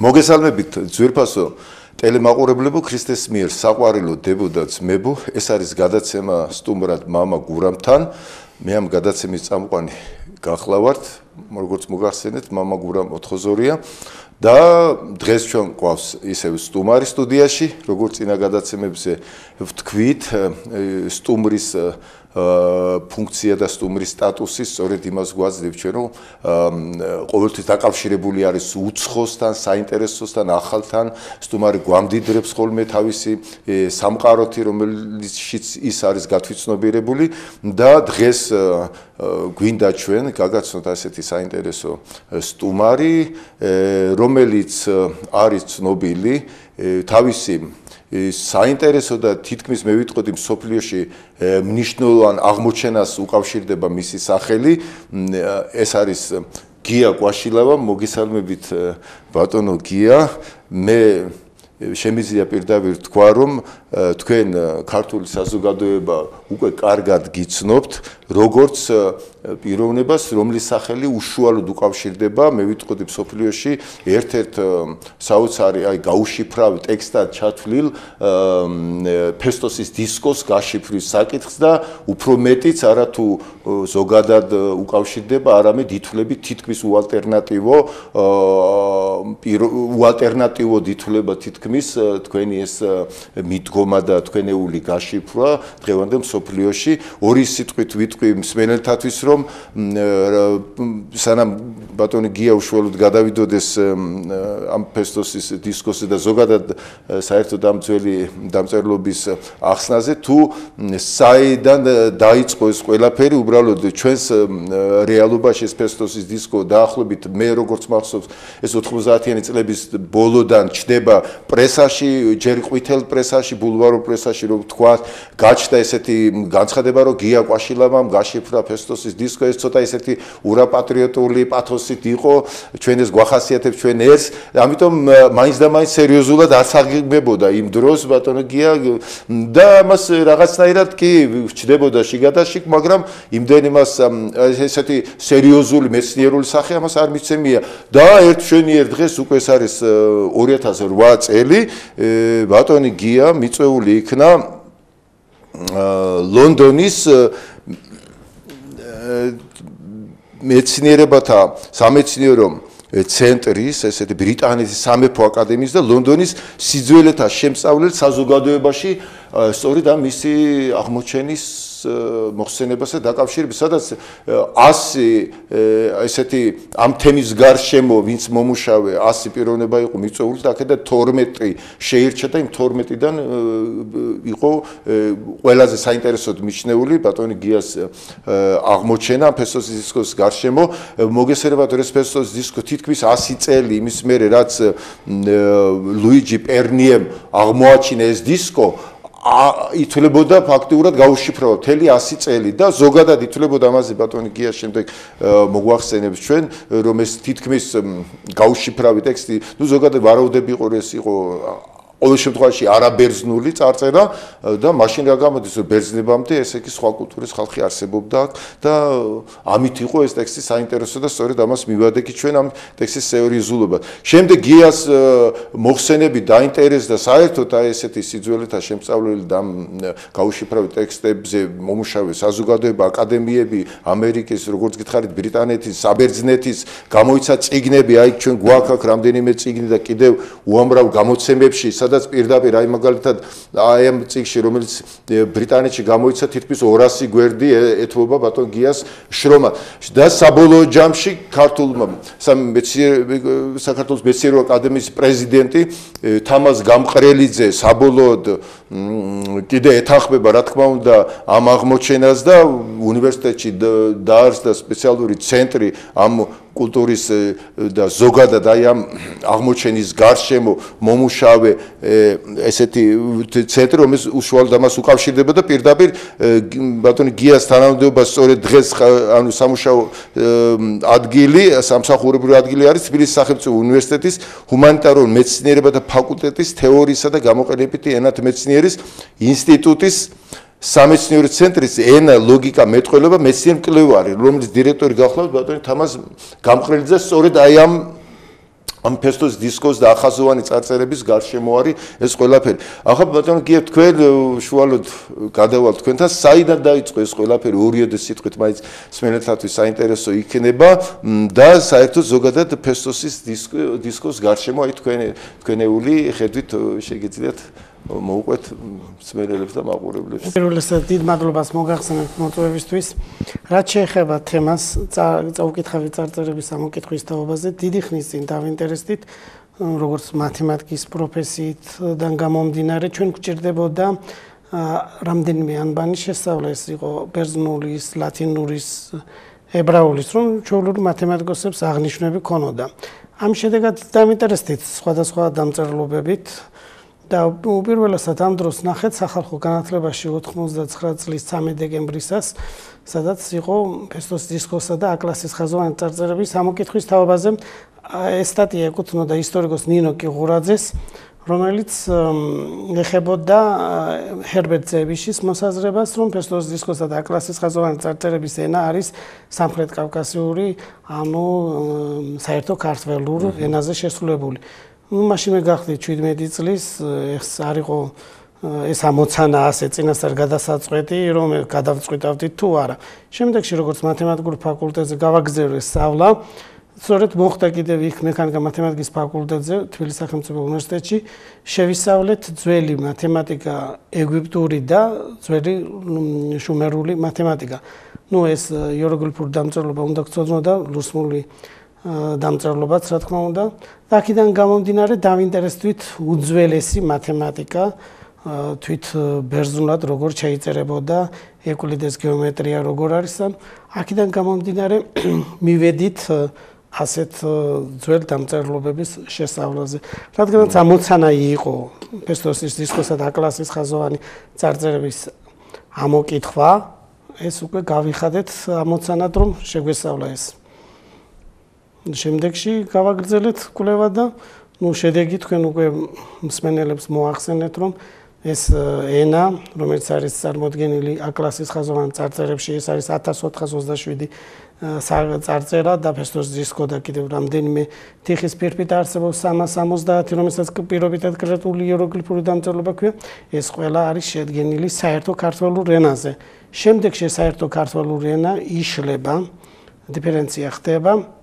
მოგესალმებით ძვირფასო ტელემაყურებლებო ქრისტეს მიერ საყვარელო დებო და ძმებო ეს არის გადაცემა სტუმრად მამა გურამთან მე ამ გადაცემის წამყვანი გახლავართ როგორც მოგახსენეთ მამა გურამ ოთხოზორია და დღეს ჩვენ გვყავს ისევ სტუმარი სტუდიაში როგორც წინა გადაცემებზე ვთქვით სტუმრის ფუნქცია და სტუმრის სტატუსი სწორედ იმას გვაძლევს ჩვენ რომ ყოველთვის დაკავშირებული არის უცხოსთან, საინტერესოსთან, ახალთან სტუმარი გვამდიდრებს ხოლმე თავისი სამყაროთი რომელშიც ის არის გათვითცნობიერებული და დღეს გვინდა ჩვენ გაგაცნოთ ასეთი საინტერესო სტუმარი რომელიც არის ცნობილი თავისი საინტერესო და თითქმის მე ვიტყოდი მსოფლიოში მნიშვნელოვან აღმოჩენას უკავშირდება მისი სახელი ეს არის გია კვაშილავა მოგესალმებით ბატონო გია მე შემიძლია პირდაპირ თქვა რომ თქვენ ქართული საზოგადოება უკვე კარგად გიცნობთ როგორც პიროვნებას რომლის სახელი უშუალოდ უკავშირდება მე ვიტყოდი მსოფლიოში ერთ-ერთ საოცარი აი გაუშიფრავ ტექსტად ჩათვლილ ფესტოსის დისკოს გაშიფვრის საკითხს და უფრო მეტიც არათუ ზოგადად უკავშირდება არამედ ითვლებით თითქმის უალტერნატივოდ ითვლება თითქმის თქვენი ეს მიდგომა და თქვენეული გაშიფრვა დღევანდელ მსოფლიოში ორი სიტყვით ვიტყვი მსმენელთათვის რომ სანამ ბატონი გია უშუალოდ გადავიდოდეს ამ ფესტოსის დისკოსზე და ზოგადად საერთოდ ამ ძველი დამწერლობის ახსნაზე თუ საიდან დაიწყო ეს ყველაფერი უბრალოდ ჩვენს რეალობაში ეს ფესტოსის დისკო დაახლოებით მე როგორც მახსოვს ეს 90-იანი წლების ბოლოდან ჩდება პრესაში ჯერ ყვითელ პრესაში ბულვარო პრესაში რომ თქვა გაჩნდა ესეთი განცხადება რომ გია კვაშილავამ გაშიფრა ფესტოსის დისკო ეს ცოტა ესეთი ურაპატრიოტული პათოსით იყო ჩვენ ეს გვახასიათებს ჩვენ ეს ამიტომ მაინც და მაინც სერიოზულად ასაღებებოდა იმ დროს ბატონო გია და მას რაღაცნაირად კი ჩდებოდა შიგადაშიგ მაგრამ იმდენი მას ესეთი სერიოზული მეცნიერული სახე ამას არ მიცემია და ერთ შენიერ დღეს უკვე ეს არის 2008 წელი ბატონი გია მიწვეული იქნა ლონდონის მეცნიერებათა სამეცნიერო ცენტრის ესეთი ბრიტანეთის სამეფო აკადემიის და ლონდონის სიძველეთა შემსწავლელ საზოგადოებაში სწორედ ამ მისი აღმოჩენის მოხსენებასა დაკავშირებით სადაც 100 ესეთი ამ თემის გარშემო ვინც მომუშავე 100 პიროვნება იყო მიწვეული და აქედან 12 შეირჩა და იმ 12-დან იყო ყველაზე საინტერესოდ მიჩნეული ბატონი გიას აღმოჩენა ფესტოსის დისკოს გარშემო მოგესალმებით ეს ფესტოსის დისკო თითქმის 100 წელი იმის მერე რაც ლუიჯი პერნიემ აღმოაჩინა ეს დისკო ითვლებოდა ფაქტიურად გაუშიფრება მთელი 100 წელი და ზოგადად ითვლებოდა ამაზე ბატონი გია შემდეგ მოგვახსენებს ჩვენ რომ ეს თითქმის გაუშიფრავი ტექსტი ნუ ზოგადად ვარაუდები იყო ეს იყო ყოველ შემთხვევაში არაბერძნული წარწერა და მაშინ რა გამოდის რომ ბერძნებამდე ესე კი სხვა კულტურის ხალხი არსებობდა აქ და ამით იყო ეს ტექსტი საინტერესო და სწორედ ამას მივადექი ჩვენ ამ ტექსტის სერიოზულობა. შემდეგ გიას მოხსენები დაინტერესდა საერთოდ აი ესეთი სიძველეთა შემსწავლელი და გაუშიფრავი ტექსტებზე მომუშავე საზოგადოება აკადემიები ამერიკის როგორც გითხარით ბრიტანეთის საბერძნეთის გამოიცა წიგნები აი ჩვენ გვაქვს აქ რამდენიმე წიგნი და კიდევ უამრავ გამოცემებში სადაც პირდაპირ აი მაგალითად აი ამ წიგნში რომელიც ბრიტანეთში გამოიცა თითქმის 200 გვერდი ეთმობა ბატონ გიას შრომა და საბოლოო ჯამში ქართულმა საქართველოს მეცნიერო აკადემიის პრეზიდენტი თამაზ გამყრელიძე საბოლოოდ კიდე ეთანხმება რა თქმა უნდა ამ აღმოჩენას და უნივერსიტეტში დაარსდა სპეციალური ცენტრი ამ კულტურის და ზოგადად აი ამ აღმოჩენის გარშემო მომუშავე ესეთი ცენტრი რომელიც უშუალოდ ამას უკავშირდება და პირდაპირ ბატონი გიას თანამდებობა სწორედ დღეს ანუ სამუშაო ადგილი სამსახურებრივი ადგილი არის თბილისის სახელმწიფო უნივერსიტეტის ჰუმანიტარულ მეცნიერებათა ფაკულტეტის თეორიისა და გამოყენებითი ენათმეცნიერის ინსტიტუტის სამეცნიერო ცენტრის ენა ლოგიკა მეტყველება მეცნიერ მკვლევარი, რომლის დირექტორი გახლავთ ბატონი თამაზ გამყრელიძე სწორედ აი ამ ამ ფესტოს დისკოს და ახაზოვანი წარწერების გარშემო არის ეს ყველაფერი. ახლა ბატონო გიებ თქვენ შუალოდ გადავალთ თქვენთან საიდან დაიწყო ეს ყველაფერი ორიოდე სიტყვით მაინც სმენელთათვის საინტერესო იქნება და საერთოდ ზოგადად ფესტოსის დისკოს გარშემო აი თქვენეული ხედვით შეგიძლიათ მოუყვეთ სმენელებს და მაყურებლებს. პირველ რიგში დიდ მადლობას მოგახსენებთ მოწვევისთვის. რაც შეეხება თემას წაუკითხავი წარწერების ამოკითხვის თაობაზე, დიდი ხნის წინ დავინტერესდით, როგორც მათემატიკის პროფესიიდან გამომდინარე, ჩვენ გვჭირდებოდა რამდენიმე ანბანი შესწავლა, ეს იყო ბერძნულის, ლათინურის, ებრაულის, რომ ჩვეულებრივ მათემატიკოსებს აღნიშვნები ქონოდა. ამ შედეგად დავინტერესდით სხვადასხვა დამწერლობებით და უპირველესად ამ დროს ნახეთ სახალხო განათლებაში 99 წლის 13 დეკემბრისას, სადაც იყო ფესტოს დისკოსა და A-კლასის ხაზოვანი წარწერების ამოკითხვის თაობაზე. ეს სტატია ეკუთვნოდა ისტორიკოს ნინო კიღურაძეს, რომელიც ეხებოდა ჰერბერტ ზევიშის მოსაზრებას, რომ ფესტოს დისკოსა და A-კლასის ხაზოვანი წარწერების ენა არის სამხრეთ კავკასიური, ანუ საერთო ქართველურ ენაზე შესრულებული. მაშინ მე გახდით 17 წლის, ეს არ იყო ეს ამოცანა ასე წინასწარ გადასაწყვეტი, რომ გადავწყვიტავდით თუ არა. შემდეგში როგორც მათემატიკურ ფაკულტეტზე გავაგზავნე სწავლა, სწორედ მოხდა კიდევ იქ მექანიკა მათემატიკის ფაკულტეტზე თბილისის სახელმწიფო უნივერსიტეტში შევისწავლეთ ძველი მათემატიკა ეგვიპტური და ძველი შუმერული მათემატიკა. ნუ ეს იეროგლიფური დამწერლობა უნდა გწოდნოდა ლურსმული დამწერლობაც რა თქმა უნდა. და აქედან გამომდინარე დავინტერესდით უძველესი მათემატიკა თვით ბერძნულად როგორ შეიწერებოდა ევკლიდეს გეომეტრია როგორ არის ან აქედან გამომდინარე მივედით ასეთ ძველ დამწერლობების შესწავლაზე. რადგანაც ამოცანა იყო ფესტოსის დისკოსა და A-კლასის ხაზოვანი წარწერების ამოკითხვა, ეს უკვე გავიხადეთ ამოცანად რომ შეგვესწავლა ეს. შემდეგში გავაგრძელეთ კვლევა და შედეგი თქვენ უკვე მსმენელებს მოახსენეთ, რომ ეს ენა, რომელიც არის წარმოდგენილი A-კლასის ხაზოვან წარწერებში, ეს არის 1427 წარწერა და ფესტოს დისკო და კიდევ რამდენიმე თიხის ფირფით არსებობს 370, რომელსაც პირობითად კრეტული იეროგლიფური დამწერლობა ქვია. ეს ყველა არის შედგენილი საერთო ქართველურ ენაზე. შემდეგში საერთო ქართველურ ენა იშლება, დიფერენცია ხდება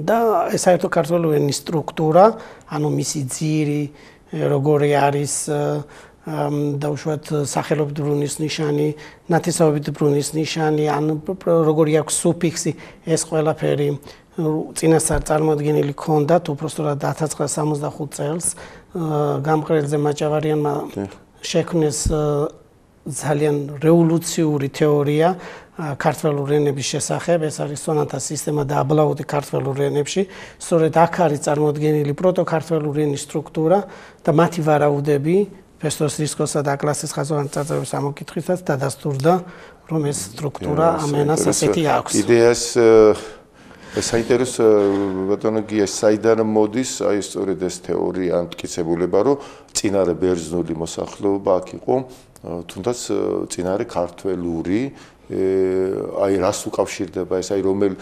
და საერთო ქართველური ენის სტრუქტურა, ანუ მისი ძირი, როგორი არის დაუშვათ სახელობით ბრუნის ნიშანი, ნათესაობით ბრუნის ნიშანი, ან როგორი აქვს სუფიქსი, ეს ყველაფერი წინასწარ წარმოდგენილი ქონდათ უпростоრად 1965 წელს გამყრელზე მაჭავარიანმა შექმნეს ძალიან რევოლუციური თეორია ქართველურ ენების შესახებ, ეს არის სონატას სისტემა და აბლაუტი ქართველურ ენებში. სწორედ აქ არის წარმოდგენილი პროტოქართველური ენის სტრუქტურა და მათი ვარაუდები ფესტოს დისკოსა და A-კლასის ხაზოვანი წარწერების ამოკითხვისას დადასტურდა, რომ ეს სტრუქტურა ამ ენას ასეთი აქვს. იდეას საინტერესო ბატონო გია საიდან მოდის აი სწორედ ეს თეორია ან მტკიცებულება, რომ წინარე ბერძნული მოსახლეობა აქ იყო, თუნდაც წინარე ქართველური აი რას უკავშირდება ეს აი რომელ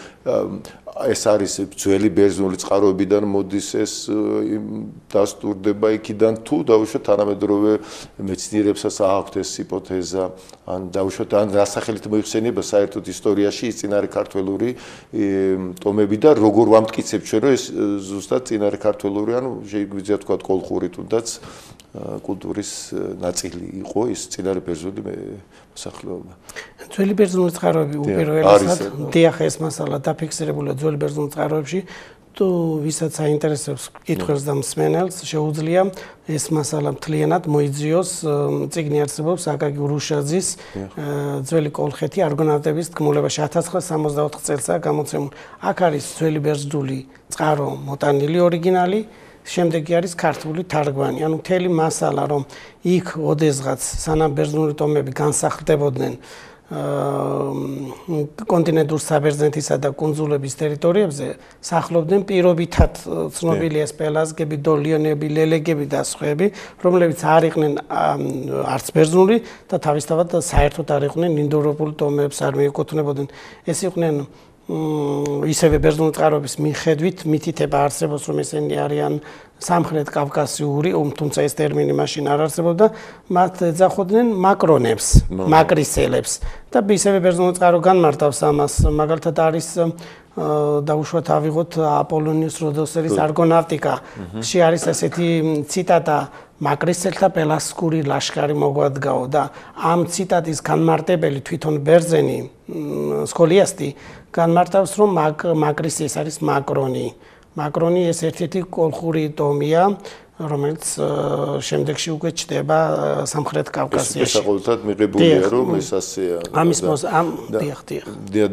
ეს არის ძველი ბერძნული წყაროებიდან მოდის ეს დასტურდება იქიდან თუ დაუშვათ თანამედროვე მეცნიერებსაც აქვთ ეს ჰიპოთეზა ან დაუშვათ ან რასახელით მოიხსენება საერთოდ ისტორიაში ის წინარე ქართველური ტომები და როგორ ვამტკიცებთ ჩვენ რომ ეს ზუსტად წინარე ქართველური ანუ შეგვიძლია თქვა კოლხური თუნდაც კულტურის ნაწილი იყო ის წინარე ბერძნული მოსახლეობა. ძველი ბერძნული წყაროები უპირველესად დიახ ეს მასალა დაფიქსირებულია ძველი ბერძნულ წყაროებში თუ ვისაც აინტერესებს კითხვებს და მსმენელს შეუძლია ეს მასალა მთლიანად მოიძიოს წიგნი არსებობს აკაკი ურუშაძის ძველი კოლხეთი არგონავტების თქმულებაში 1964 წელსაა გამოცემული. აქ არის ძველი ბერძნული წყარო მოტანილი ორიგინალი შემდეგი არის ქართული თარგმანი. ანუ მთელი მასალა რომ იქ ოდესღაც სანამ ბერძნული ტომები განსახლდებოდნენ კონტინენტურ საბერძნეთისა და კუნძულების ტერიტორიებზე სახლობდნენ პირობითად ცნობილია ეს პელაზგები, დოლიონები, ლელეგები და სხვაები, რომლებიც არ იყვნენ არც ბერძნული და თავისთავად საერთოდ არ იყვნენ ინდოევროპული ტომებს არ მიეკუთვნებოდნენ. ეს იყვნენ ისევე ბერძნული წყაროების მიხედვით მითითება არსებობს, რომ ესენი არიან სამხრეთ კავკასიური, თუმცა ეს ტერმინი მაშინ არ არსებობდა, მათ ეძახოდნენ მაკრონებს, მაკრისელებს და ისევე ბერძნული წყარო განმარტავს ამას, მაგალითად არის დაუშვათ ავიღოთ აპოლონიუს როდოსელის არგონავტიკაში არის ესეთი ციტატა მაკრისელთა პელასკური ლაშქარი მოგვადგაო და ამ ციტატის განმარტებელი თვითონ ბერძენი სკოლიასტი განმარტავს რომ მაკრისი ეს არის მაკრონი ეს ერთ-ერთი კოლხური ტომია რომელიც შემდეგში უკვე ჩდება სამხრეთ კავკასიაში. ეს საყოველთაოდ მიღებულია რომ ეს ასეა. ამის დიახ.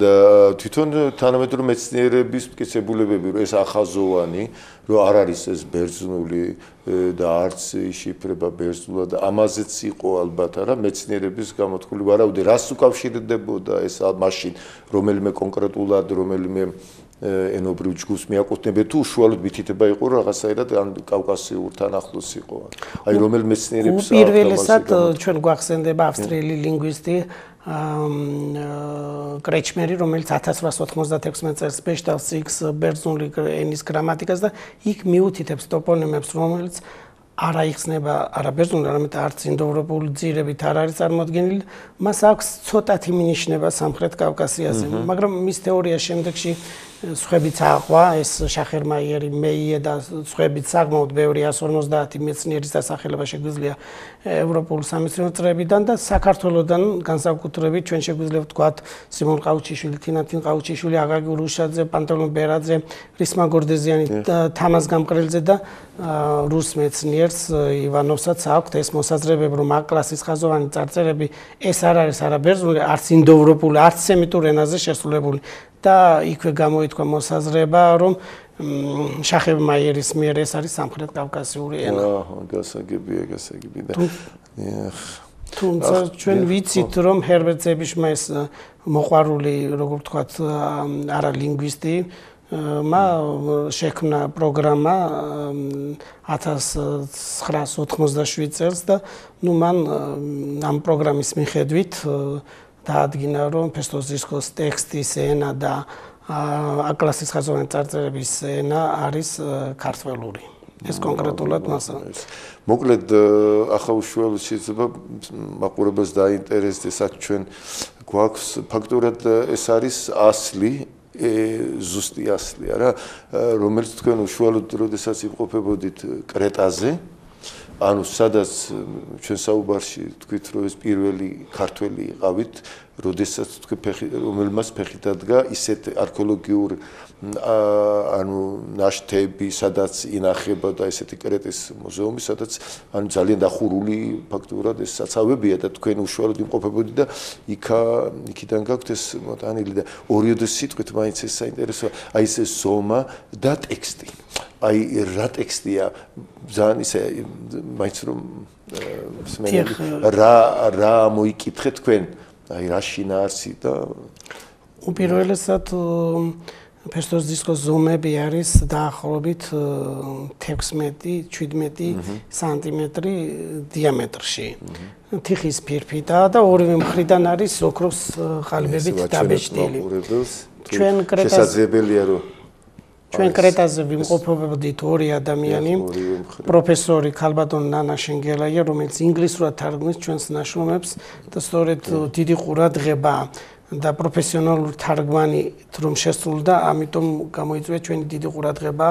და თვითონ თანამედროვე მეცნიერების მტკიცებულებები რომ ეს ახაზოვანი რომ არ არის ეს ბერძნული და არც იშიფრება ბერძნულად ამაზეც იყო ალბათ არა მეცნიერების გამოთქმული ვარაუდი რას უკავშირდებოდა ეს მაშინ რომელიმე კონკრეტულად რომელიმე ენობრივ ჯგუფს მიაკუთვნებდა თუ უშუალოდ მითითება იყო რაღაცაირად ან კავკასიურთან ახლოს იყო. აი რომელ მეცნიერებს უპირველესად ჩვენ გვახსენდება ავსტრიელი ლინგვისტი კრეჩმერი რომელიც 1896 წელს ბეშტავს იქს ბერძნული ენის გრამატიკას და იქ მიუთითებს ტოპონიმებს რომელიც არ აიხსნება არა ბერძნული, არამედ არც ინდოევროპული ძირებით არ არის წარმოდგენილი, მას აქვს ცოტათი მინიშნება სამხრეთ კავკასიაზე, მაგრამ მის თეორია შემდეგში სხვებიც აყვა, ეს შახერმაიერი, მეიე და სხვებიც საკმაოდ ბევრი 150 მეცნიერის დასახელება შეგვიძლია ევროპულ სამეცნიერო წრეებიდან და საქართველოსდან განსაკუთრებით ჩვენ შეგვიძლია ვთქვათ სიმონ ყაუჩიშვილი, თინათინ ყაუჩიშვილი, აკაკი ურუშაძე, პანტელონ ბერაძე, რისმა გორდეზიანი, თამაზ გამყრელძე და რუს მეცნიერს ივანოვსაც აქვთ ეს მოსაზრებები რომ A კლასის ხაზოვანი წარწერები ეს არ არის არა ბერძნული, არც ინდოევროპული, არც სემიტურ ენაზე შესრულებული და იქვე გამოითქვა მოსაზრება რომ შახერმაიერის მიერ ეს არის სამხრეთ კავკასიური ენა. გასაგებია და თუმცა ჩვენ ვიცით რომ ჰერბერტ ზებიშმა ეს მოყვარული როგორ ვთქვათ არა ლინგვისტი მა შექმნა პროგრამა 1987 წელს და ნუ მან ამ პროგრამის მიხედვით დაადგინა რომ ფესტოზისკოს ტექსტის ენა და A კლასის ხაზოვანი წარწერების ენა არის ქართველური. ეს კონკრეტულად მასა. მოკლედ ახლა უშუალოდ შეიძლება მაყურებელს დაინტერესდეს აქ ჩვენ გვაქვს ფაქტურად ეს არის ასლი ზუსტი ასლი არა რომელიც თქვენ უშუალოდ როდესაც იმყოფებოდით კრეტაზე ანუ სადაც ჩვენ საუბარში თქვით რომ ეს პირველი ქართველი იყავით როდესაც თქვენ რომელმაც ფეხი დადგა ისეთ არქეოლოგიურ ანუ ნაშთები სადაც ინახება და ესეთი კრეტის მუზეუმი სადაც ანუ ძალიან დახურული ფაქტურად ეს საცავებია და თქვენ უშუალოდ იმყოფებოდით და იქიდან გაქვთ ეს მოტანილი და ორიოდე სიტყვით მაინც ეს საინტერესოა აი ეს ზომა და ტექსტი აი რა ტექსტია ძალიან ისე მაინც რომ რა მოიკითხეთ თქვენ აი რა შინაარსი და უპირველესად ფესტოზისკოს ზომები არის დაახლოებით 16-17 სანტიმეტრი დიამეტრში. თიხის ფირფიტაა და ორივე მხრიდან არის ოქროს ყალიბებით დაბეჭდილი. ჩვენ კრეტაზე შესაძლებელია რომ ჩვენ კრეტაზე ვიმყოფებოდით ორი ადამიანი, პროფესორი ქალბატონი ნანა შენგელაია, რომელიც ინგლისურად თარგმნის ჩვენს ნაშრომებს და სწორედ დიდი ყურადღება და პროფესიონალური თარგმანი რომ შესრულდა, ამიტომ გამოიწვია ჩვენი დიდი ყურადღება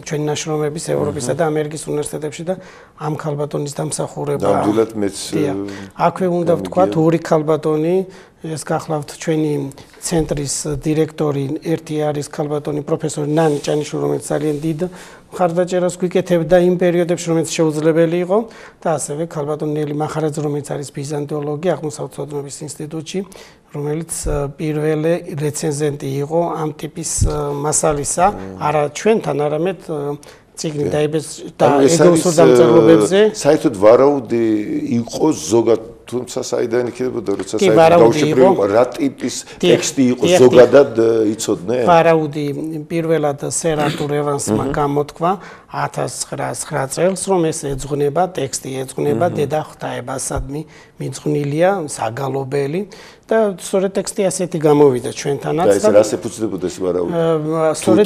ჩვენი ნაშრომების ევროპისა და ამერიკის უნივერსიტეტებში და ამ ქალბატონის დამსახურება. ნამდვილად მეც აქვე უნდა ვთქვათ ორი ქალბატონი ეს გახლავთ ჩვენი ცენტრის დირექტორი ერთი არის ქალბატონი პროფესორი ნანი ჭანიშვილი რომელიც ძალიან დიდ მხარდაჭერას გვიკეთებდა იმ პერიოდებში რომელიც შეუძლებელი იყო და ასევე ქალბატონი ნელი მახარაძე რომელიც არის ბიზანტიოლოგი აღმოსავლეთ ცოდნების ინსტიტუტში რომელიც პირველი რეცენზენტი იყო ამ ტიპის მასალისა არა ჩვენთან არამედ ციგნი დაიბეს და ეგროსურ დამწერლობებზე საერთოდ ვარაუდი იყო ზოგად თუმცა საიდან იქნებოდა როცა გაუშვებრივი რა ტიპის ტექსტი იყო ზოგადად იცოდნენ ვარაუდი პირველად სერატურ ევანსმა გამოთქვა 1909 წელს რომ ეს ეძღვნება ტექსტი ეძღვნება დედა ღვთაებასადმი მიძღვნილია საგალობელი და სწორედ ტექსტი ასეთი გამოვიდა ჩვენთანაც და ეს რას ეფუძნებოდა ეს ვარაუდი? სწორედ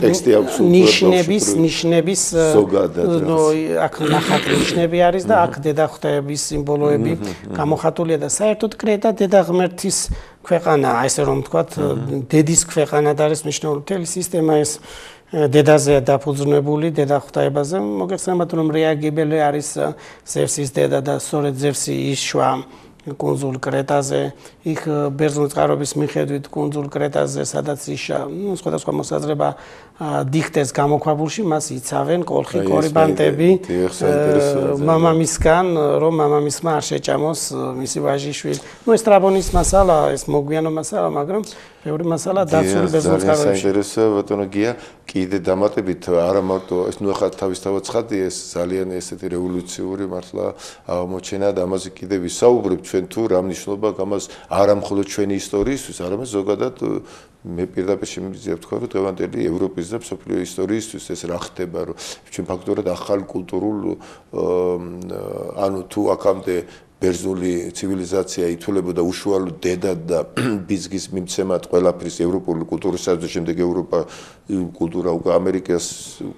ნიშნების აქ ნახატ ნიშნები არის და აქ დედაღვთაების სიმბოლოები გამოხატულია და საერთოდ კრეტა დედაღმერთის ქვეყანაა, ესე რომ ვთქვათ, დედის ქვეყანად არის მნიშვნელოვანი მთელი სისტემა ეს დედაზეა დაფუძნებული დედაღვთაებაზე. მოგეხსენებათ რომ რეაგებელი არის ზევსის დედა და სწორედ ზევსი იშვა კუნძულ კრეტაზე, იქ ბერძნული წყაროების მიხედვით კუნძულ კრეტაზე, სადაც იშა, სხვადასხვა მოსაზრება დიხტეს გამოქვაბულში, მას იცავენ კოლხი კორიბანტები მამამისგან, რომ მამამისმა არ შეჭამოს მისი ვაჟიშვილი. ეს ტრაბონის მასალა, ეს მოგვიანო მასალა, მაგრამ ბევრი მასალა დაცული ბერძნულ წყაროებში. საინტერესოა ბატონო გია, კიდე დამატებით არა მარტო ეს ნუ ახლა თავისთავად ცხადია, ეს ძალიან ესეთი რევოლუციური მართლა აღმოჩენა და ამაზე კიდე ვისაუბრებ ჩვენ თუ რა მნიშვნელობა გამას არა მხოლოდ ჩვენი ისტორიისთვის, არამედ ზოგადად მე პირდაპირ შემიძლია ვთქვა, რომ დღევანდელი ევროპის და მსოფლიო ისტორიისთვის ეს რა ხდება, რომ ჩვენ ფაქტობრივად ახალ კულტურულ ანუ თუ აქამდე ბერძნული ცივილიზაცია ითვლებოდა უშუალოდ დედად და ბიზგის მიმცემად ყველაფრის ევროპული კულტურისა და შემდეგ ევროპა კულტურა უკვე ამერიკას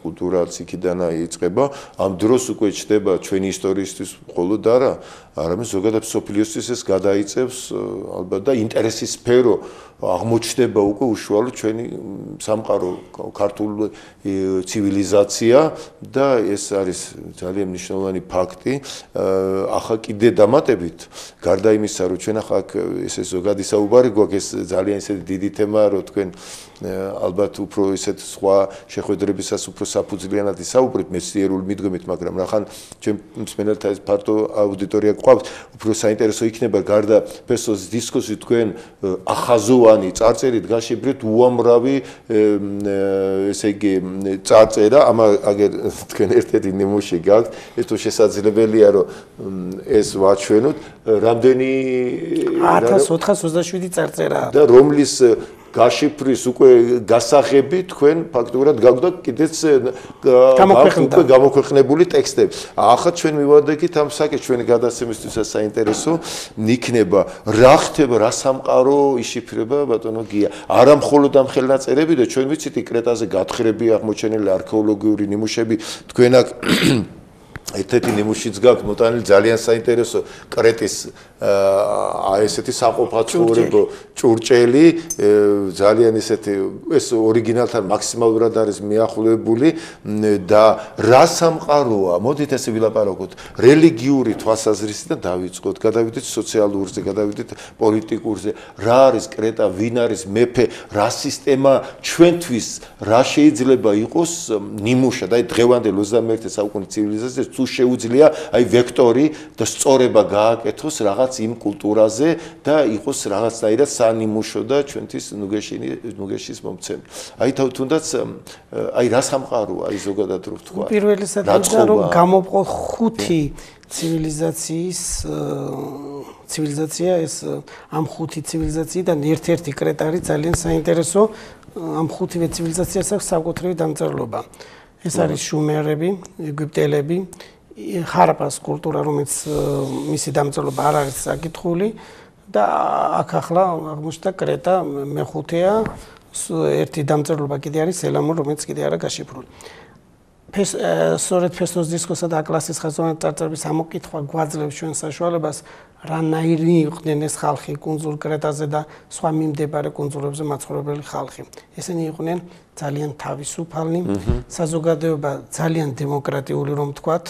კულტურაც იქიდან იწყება. ამ დროს უკვე ჩდება ჩვენი ისტორიისთვის მხოლოდ არა, არამედ ზოგადად სოფლიოსთვის ეს გადაიწევს ალბათ და ინტერესის სფერო აღმოჩნდება უკვე უშუალოდ ჩვენი სამყარო ქართული ცივილიზაცია და ეს არის ძალიან მნიშვნელოვანი ფაქტი. ახლა კიდე დამატებით, გარდა იმისა, რომ ჩვენ ახლა ესე ზოგადი საუბარი გვაქვს, ეს ძალიან ისეთი დიდი თემაა, რომ თქვენ ალბათ უფრო ისეთ სხვა შეხვედრებისას უფრო საფუძვლიანად ისაუბრეთ მეცნიერული მიდგომით, მაგრამ რახან ჩვენ მსმენელთა ეს ფართო აუდიტორია გვყავს, უფრო საინტერესო იქნება გარდა ფესოს დისკუსი თქვენ ახაზოვანი წარწერით გაშიბრეთ უამრავი ესე იგი წარწერა, აგერ თქვენ ერთ-ერთი ნიმუში გაქვთ, ეს თუ შესაძლებელია რომ ეს ვაჩვენოთ, რამდენი 1427 წარწერაა და რომლის გაშიფრის უკვე გასაღები თქვენ ფაქტურად გაგვდა კიდეც უკვე გამოქვეყნებული ტექსტები. ახლა ჩვენ მივადექით ამ საკითხს ჩვენი გადაცემისთვისაც საინტერესო იქნება რა ხდება, რა სამყარო იშიფრება ბატონო გია. არა მხოლოდ ამ ხელნაწერები და ჩვენ ვიცით კრეტაზე გათხრები აღმოჩენილი არქეოლოგიური ნიმუშები თქვენ აქ ერთ-ერთი ნიმუშიც გაქვთ მოტანილი ძალიან საინტერესო კრეტის ესეთი საყოფაცხოვრებო ჭურჭელი ძალიან ესეთი ეს ორიგინალთან მაქსიმალურად არის მიახლოებული და რა სამყაროა მოდით ესე ვილაპარაკოთ რელიგიური თვალსაზრისით დავიწყოთ გადავიდეთ სოციალურზე გადავიდეთ პოლიტიკურზე რა არის კრეტა ვინ არის მეფე რა სისტემა ჩვენთვის რა შეიძლება იყოს ნიმუშად აი დღევანდელ 21 საუკუნის ცივილიზაციას თუ შეუძლია აი ვექტორი და სწორება გააკეთოს რაღაც იმ კულტურაზე და იყოს რაღაცნაირად სანიმუშო და ჩვენთვის ნუგეშის მომცემი. აი თუნდაც აი რა სამყაროა აი ზოგადად რო ვთქვა. პირველი საერთოდ რომ გამოვყო ხუთი ცივილიზაცია ეს ამ ხუთი ცივილიზაციიდან ერთ-ერთი კრეტა არის ძალიან საინტერესო ამ ხუთივე ცივილიზაციას აქვს საკუთრივი დამწერლობა. ეს არის შუმერები, ეგვიპტელები, ხარაპას კულტურა, რომელიც მისი დამწერლობა არ არის საკითხული და აქ ახლა აღმოჩნდა კრეტა მეხუთეა, ერთი დამწერლობა კიდე არის ელამური, რომელიც კიდე არა გაშიფრული. სწორედ ფესოს დისკოსა და აკლასის ხაზოვანი წარწერების ამოკითხვა გვაძლევს ჩვენ საშუალებას რანაირი იყვნენ ეს ხალხი კუნძულ კრეტაზე და სხვა მიმდებარე კუნძულებზე მაცხოვრებელი ხალხი. ესენი იყვნენ ძალიან თავისუფალნი, საზოგადოება ძალიან დემოკრატიული რომ ვთქვათ,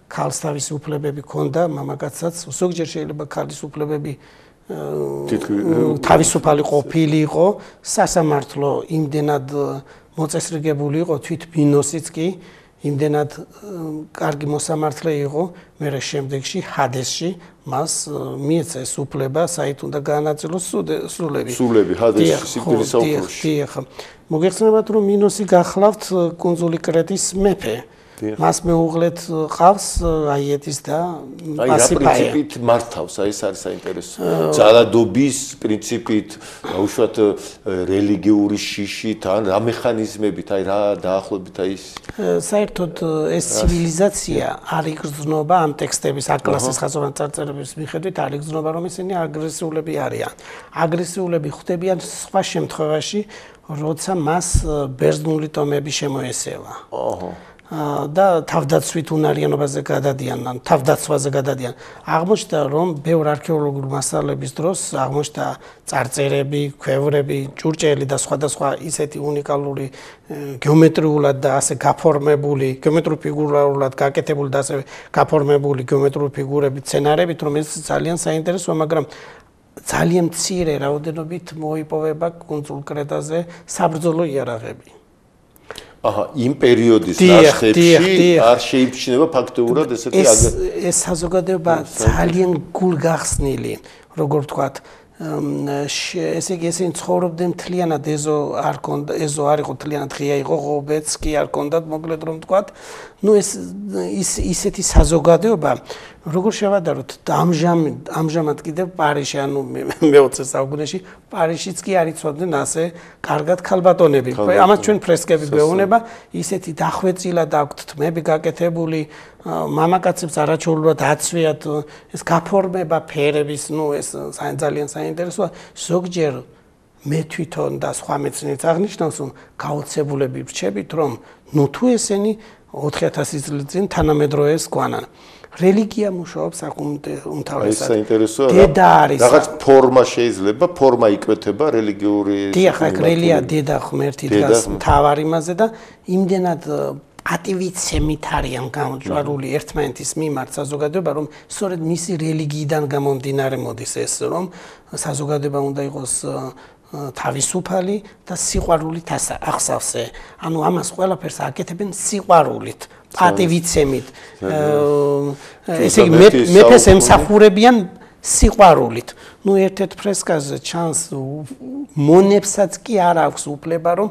ქალს თავისი უფლებები ჰქონდა, მამაკაცსაც, ზოგჯერ შეიძლება ქალის უფლებები თავისუფალი ყოფილი იყო, სასამართლო იმდენად მოწესრიგებული იყო თვით ბინოსიც კი იმდენად კარგი მოსამართლე იყო, მერე შემდეგში ჰადესში მას მიეცა ეს უფლება, საით უნდა გაანაწილოს სულები. სულები ჰადესში სიკვდილის საუკუნეში. მოგეხსენებათ რომ მინოსი გახლავთ კუნძული კრეტის მეფე. მას მეუღლეთ ყავს აიეთის და პასიფაია. აი, პრინციპით მართავს, აი ეს არის საინტერესო. ძალადობის პრინციპით, უშუალოდ რელიგიური შიშით, ან რა მექანიზმებით, აი რა დაახლოებით აი ეს. საერთოდ ეს ცივილიზაცია არ იგრძნობა ამ ტექსტების აკლასის ხაზოვანი წარწერების მიხედვით არ იგრძნობა, რომ ისინი აგრესიულები არიან. აგრესიულები ხდებიან სხვა შემთხვევაში, როცა მას ბერძნული ტომები შემოესევა. და თავდაცვით უნარიანობაზე გადადიან, ან თავდაცვაზე გადადიან. აღმოჩნდა, რომ ბევრ არქეოლოგიურ მასალების დროს აღმოჩნდა წარწერები, ქვევრები, ჭურჭელი და სხვადასხვა ისეთი უნიკალური გეომეტრიულად და ასე გაფორმებული, გეომეტრიულ ფიგურულად გაკეთებული და ასე გაფორმებული გეომეტრიული ფიგურებით, სცენარებით, რომ ეს ძალიან საინტერესოა, მაგრამ ძალიან მცირე რაოდენობით მოიპოვება კუნძულ კრეტაზე საბრძოლო იარაღები. იმ პერიოდის ნაშთებში არ შეიმჩნევა ფაქტობრივად ესეთი ეს საზოგადოება ძალიან გულგახსნილი, როგორ ვთქვათ, ესე იგი ესენი ცხოვრობდნენ მთლიანად ეზო არ იყო მთლიანად ღია იყო, ღობეც კი არ კონდათ, მოკლედ რომ ვთქვათ, ну ისეთი საზოგადოება როგორ შევადაროთ ამჟამად კიდევ პარიში ანუ მე-20 საუკუნეში პარიშიც კი არ იცოდნენ ასე კარგად ქალბატონები. ამას ჩვენ ფრესკები გვეუბნება, ისეთი დახვეწილად აქვთ თმები გაკეთებული, მამაკაცებს არაჩვეულებრივად აცვიათ ეს გაფორმება ფერების, ну ეს ძალიან საინტერესოა. ზოგჯერ მე თვითონ და სხვა მეცნიერებს აღნიშნავს, რომ გაოცებულები ვრჩებით, რომ ну თუ ესენი 4000 წლის წინ თანამედროვეს გვანან. რელიგია მუშაობს აქ უმთავრესად. ეს საინტერესოა. დედა არის. რაღაც ფორმა შეიძლება, ფორმა იკვეთება რელიგიური. დიახ, აქ რელიგია დედა ღმერთი დგას მთავარ იმაზე და იმდენად პატივიცემით არიან გამჭვირვალე ერთმანეთის მიმართ საზოგადოება, რომ სწორედ მისი რელიგიიდან გამომდინარე მოდის ეს, რომ საზოგადოება უნდა იყოს თავისუფალი და სიყვარულით ახსავსე. ანუ ამას ყველაფერს აკეთებენ სიყვარულით, პატივიცემით. ესე იგი მეფეს ემსახურებიან სიყვარულით. ну ერთ-ერთ ფრესკაზე ჩანს მონებსაც კი არ აქვს უფლება რომ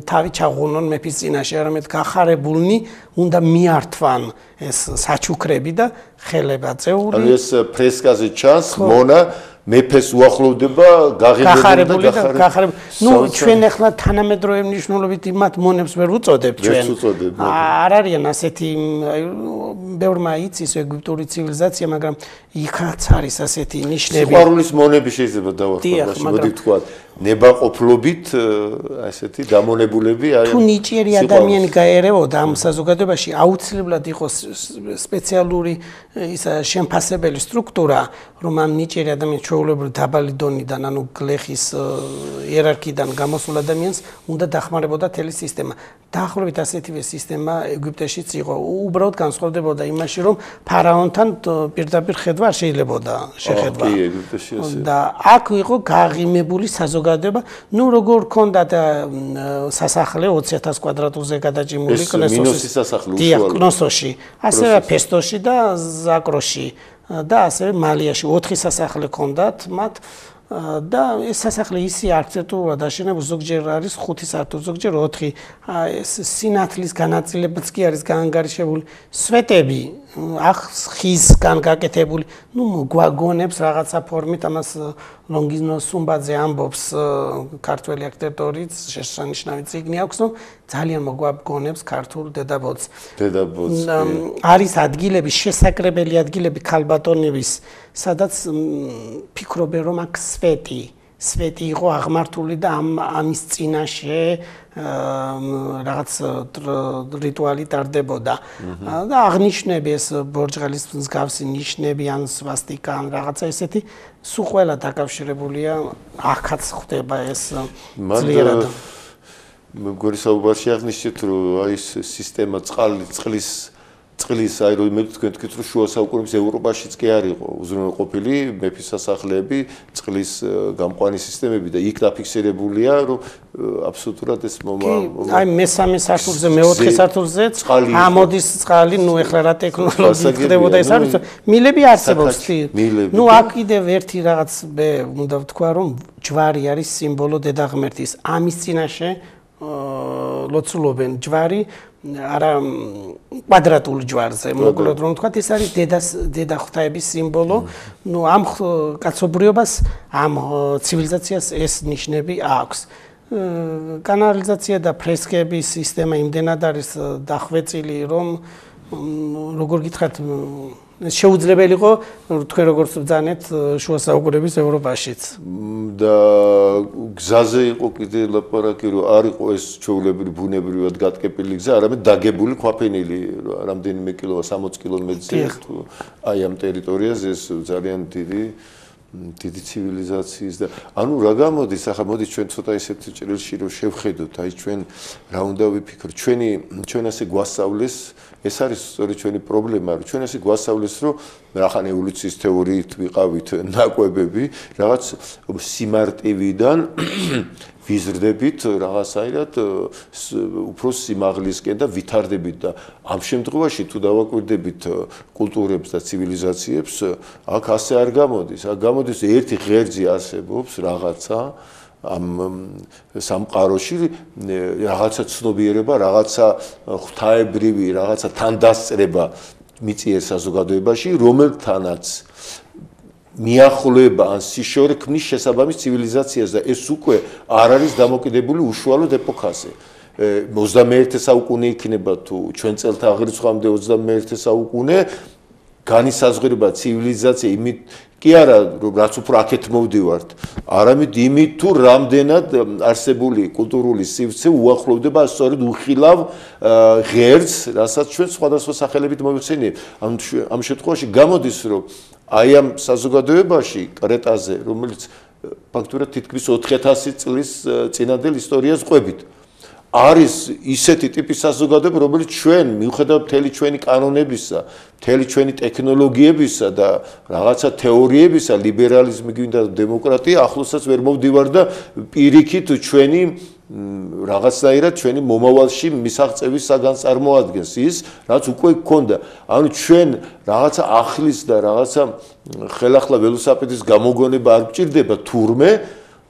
თავი ჩაღუნონ მეფის წინაშე, არამედ გახარებულნი უნდა მიართვან ეს საჩუქრები და ხელება წეული. ანუ ეს ფრესკაზე ჩანს მონა მეფეს უახლოვდება გახარებული და გახარებული. ну ჩვენ ახლა თანამედროვე მნიშვნელობით იმათ მონებს ვერ უწოდებთ ჩვენ. არ არიან ასეთი ბევრმა იცის ეგვიპტური ცივილიზაცია, მაგრამ იქაც არის ასეთი ნიშნები. სიყვარულის მონები შეიძლება დავახსოვდეს, მოდი ვთქვათ, ნებაყოფლობით ასეთი დამონებულები არის. თუ ნიჭიერი ადამიანი გაერევოდა ამ საზოგადოებაში, აუცილებლად იყოს სპეციალური ისა შემფასებელი სტრუქტურა, რომ ამ ნიჭიერი ადამიანის ჩვეულებრივ დაბალი დონიდან, ანუ გლეხის იერარქიიდან გამოსულ ადამიანს უნდა დახმარებოდა თელი სისტემა. დაახლოებით ასეთივე სისტემა ეგვიპტეშიც იყო. უბრალოდ განსხვავდებოდა იმაში, რომ ფარაონთან პირდაპირ ხედვა არ შეიძლებოდა შეხედვა. და აქ იყო გაღიმებული საზოგადოება, ну როგორ ქონდათ სასახლე 20000 კვადრატულზე გადაჭიმული კნოსოში, ასევე ფესტოში და ზაკროში და ასევე მალიაში 4 სასახლე ქონდათ მათ და ეს სასახლე ისე არქიტექტურულად აშენებული, ზოგჯერ არის 5 სართული, ზოგჯერ 4. ეს სინათლის განაწილებაც კი არის გაანგარიშებული. სვეტები ხისგან გაკეთებული, ну გვაგონებს რაღაცა ფორმით, ამას ლონგინო სუმბაძე ამბობს, ქართველი არქიტექტორიც შესანიშნავი წიგნი აქვს, რომ ძალიან მოგვაგონებს ქართულ დედაბოძს. არის ადგილები, შესაკრებელი ადგილები ქალბატონების, სადაც ფიქრობენ, რომ აქ სვეტი იყო აღმართული და ამის წინაშე რაღაც რიტუალი ტარდებოდა. და აღნიშნები ეს ბორჯღალის მსგავსი ნიშნები ან სვასტიკა ან რაღაცა ესეთი სულ ყველა დაკავშირებულია, აქაც ხდება ეს ძლიერად. მეგორი საუბარში აღნიშნეთ, რომ აი ეს სისტემა წყლის აი რომ მე თქვენ თქვით, რომ შუა საუკუნეების ევროპაშიც კი არ იყო უზრუნველყოფილი მეფის სასახლეები, წყლის გამყვანი სისტემები და იქ დაფიქსირებულია, რომ აბსოლუტურად ეს აი მე-3 სართულზე, მე-4 სართულზეც ამოდის წყალი, ну ეხლა რა ტექნოლოგია ხდებოდა ეს არის, მილები არსებობს. ну აქ კიდევ ერთი რაღაც უნდა ვთქვა, რომ ჯვარი არის სიმბოლო დედა ღმერთის. ამის წინაშე ლოცულობენ ჯვარი, არა კვადრატულ ჯვარზე, მოკლედ რომ ვთქვათ, ეს არის დედა ღვთაების სიმბოლო. ნუ ამ კაცობრიობას, ამ ცივილიზაციას ეს ნიშნები აქვს. კანალიზაცია და ფრესკების სისტემა იმდენად არის დახვეწილი, რომ როგორ გითხრათ, შეუძლებელი იყო თქვენ როგორც ბძანეთ შუა საუკუნეების ევროპაშიც. და გზაზე იყო კიდე ლაპარაკი, რომ არ იყო ეს ჩვეულებრივი ბუნებრივად გატკეპილი გზა, არამედ დაგებული ქვაფენილი, რამდენიმე კილოა 60 კილომეტრზე აი ამ ტერიტორიაზე ეს ძალიან დიდი ცივილიზაციის და ანუ რა გამოდის, ახლა მოდი ჩვენ ცოტა ისეთ ჭრილში რომ შევხედოთ, აი ჩვენ რა უნდა ვიფიქროთ, ჩვენ ასე გვასწავლეს, ეს არის სწორედ ჩვენი პრობლემა, რომ ჩვენ ასე გვასწავლეს, რომ რახან ევოლუციის თეორიით ვიყავით ნაკვებები, რაღაც სიმარტივიდან ვიზრდებით რაღაცაირად უფრო სიმაღლისკენ და ვითარდებით და ამ შემთხვევაში თუ დავაკვირდებით კულტურებს და ცივილიზაციებს, აქ ასე არ გამოდის. აქ გამოდის ერთი ღერძი არსებობს რაღაცა ამ სამყაროში, რაღაცა ცნობიერება, რაღაცა ღვთაებრივი, რაღაცა თანდასწრება მიწიერ საზოგადოებაში, რომელთანაც მიახლოება ან სიშორე ქმნის შესაბამის ცივილიზაციას და ეს უკვე არ არის დამოკიდებული უშუალოდ ეპოქაზე. 21 საუკუნე იქნება თუ ჩვენ წელთაღრიცხვამდე 21 საუკუნე განისაზღვრება ცივილიზაცია იმით კი არა რაც უფრო აქეთ მოვდივართ, არამედ იმით თუ რამდენად არსებული კულტურული სივრცე უახლოვდება სწორედ უხილავ ღერძს, რასაც ჩვენ სხვადასხვა სახელებით მოვიხსენიებთ. ამ შემთხვევაში გამოდის, რომ აი ამ საზოგადოებაში კრეტაზე, რომელიც ფაქტურად თითქმის 4000 წლის წინანდელ ისტორიას ყვებით, არის ისეთი ტიპის საზოგადოება, რომელიც ჩვენ მიუხედავად მთელი ჩვენი კანონებისა, მთელი ჩვენი ტექნოლოგიებისა და რაღაცა თეორიებისა, ლიბერალიზმი გვინდა დემოკრატია, ახლოსაც ვერ მოვდივარ და პირიქით ჩვენი რაღაცნაირად ჩვენი მომავალში მისაღწევის საგანს წარმოადგენს ის, რაც უკვე გქონდა. ანუ ჩვენ რაღაცა ახლის და რაღაცა ხელახლა ველოსიპედის გამოგონება არ გჭირდება თურმე,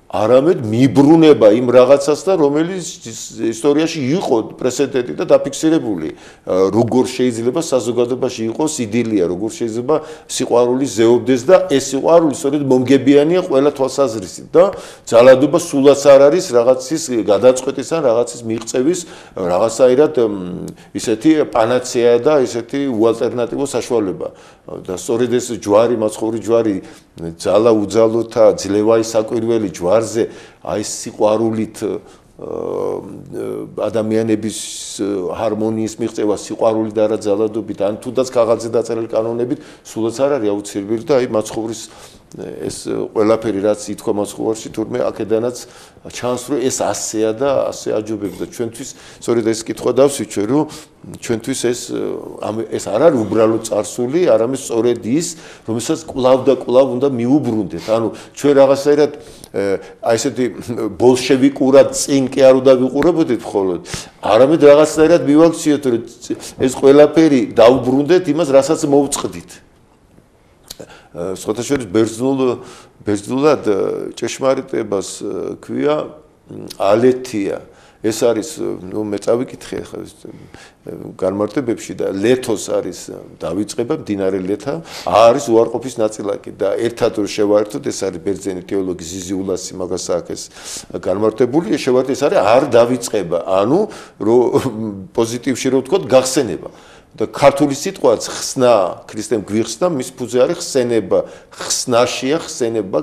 არამედ მიბრუნება იმ რაღაცას და რომელიც ისტორიაში იყო პრეცედენტი და დაფიქსირებული. როგორ შეიძლება საზოგადოებაში იყოს იდილია, როგორ შეიძლება სიყვარული ზეობდეს და ეს სიყვარული სწორედ მომგებიანია ყველა თვალსაზრისით და ძალადობა სულაც არ არის რაღაცის გადაწყვეტის ან რაღაცის მიღწევის რაღაცაირად ისეთი პანაცეა და ისეთი უალტერნატივო საშუალება. და სწორედ ეს ჯვარი, მაცხოვრი ჯვარი, ძალა უძალოთა, ძლევაი საკვირველი ჯვარზე, აი სიყვარულით ადამიანების ჰარმონიის მიღწევა, სიყვარული და არა ძალადობით, ან თუნდაც ქაღალდზე დაწერილი კანონებით, სულაც არ არის აუცილებელი და აი მაცხოვრის ეს ყველაფერი რაც ითქვა მაცხოვარში, თურმე აქედანაც ჩანს, რომ ეს ასეა და ასე აჯობებს და ჩვენთვის სწორედ ეს კითხვა დავსვიჩე, რომ ჩვენთვის ეს არ არის უბრალოდ წარსული, არამედ სწორედ ის, რომელსაც კვლავ და კვლავ უნდა მიუბრუნდეთ. ანუ ჩვენ რაღაცაირად აი ესეთი ბოლშევიკურად წინ კი არ უნდა ვიყურებოდეთ მხოლოდ, არამედ რაღაცაირად მივაქციოთ, რომ ეს ყველაფერი დაუბრუნდეთ იმას, რასაც მოვწყდით. სხვათა შორის ბერძნულად ჭეშმარიტებას ქვია ალეთია. ეს არის, ნუ მე წავიკითხე ხა განმარტებებში და ლეთოს არის დავიწყება მდინარე ლეთა, არის უარყოფის ნაწილაკი და ერთად რო შევაერთოთ, ეს არის ბერძენი თეოლოგი ზიზიულასი მაგას აქვს განმარტებული, შევაერთოთ ეს არის არ დავიწყება, ანუ რო პოზიტივში რო ვთქვათ, გახსენება. და ქართული სიტყვაც ხსნა, ქრისტემ გვიხსნა, მის ფუძე არის ხსენება, ხსნაშია ხსენება,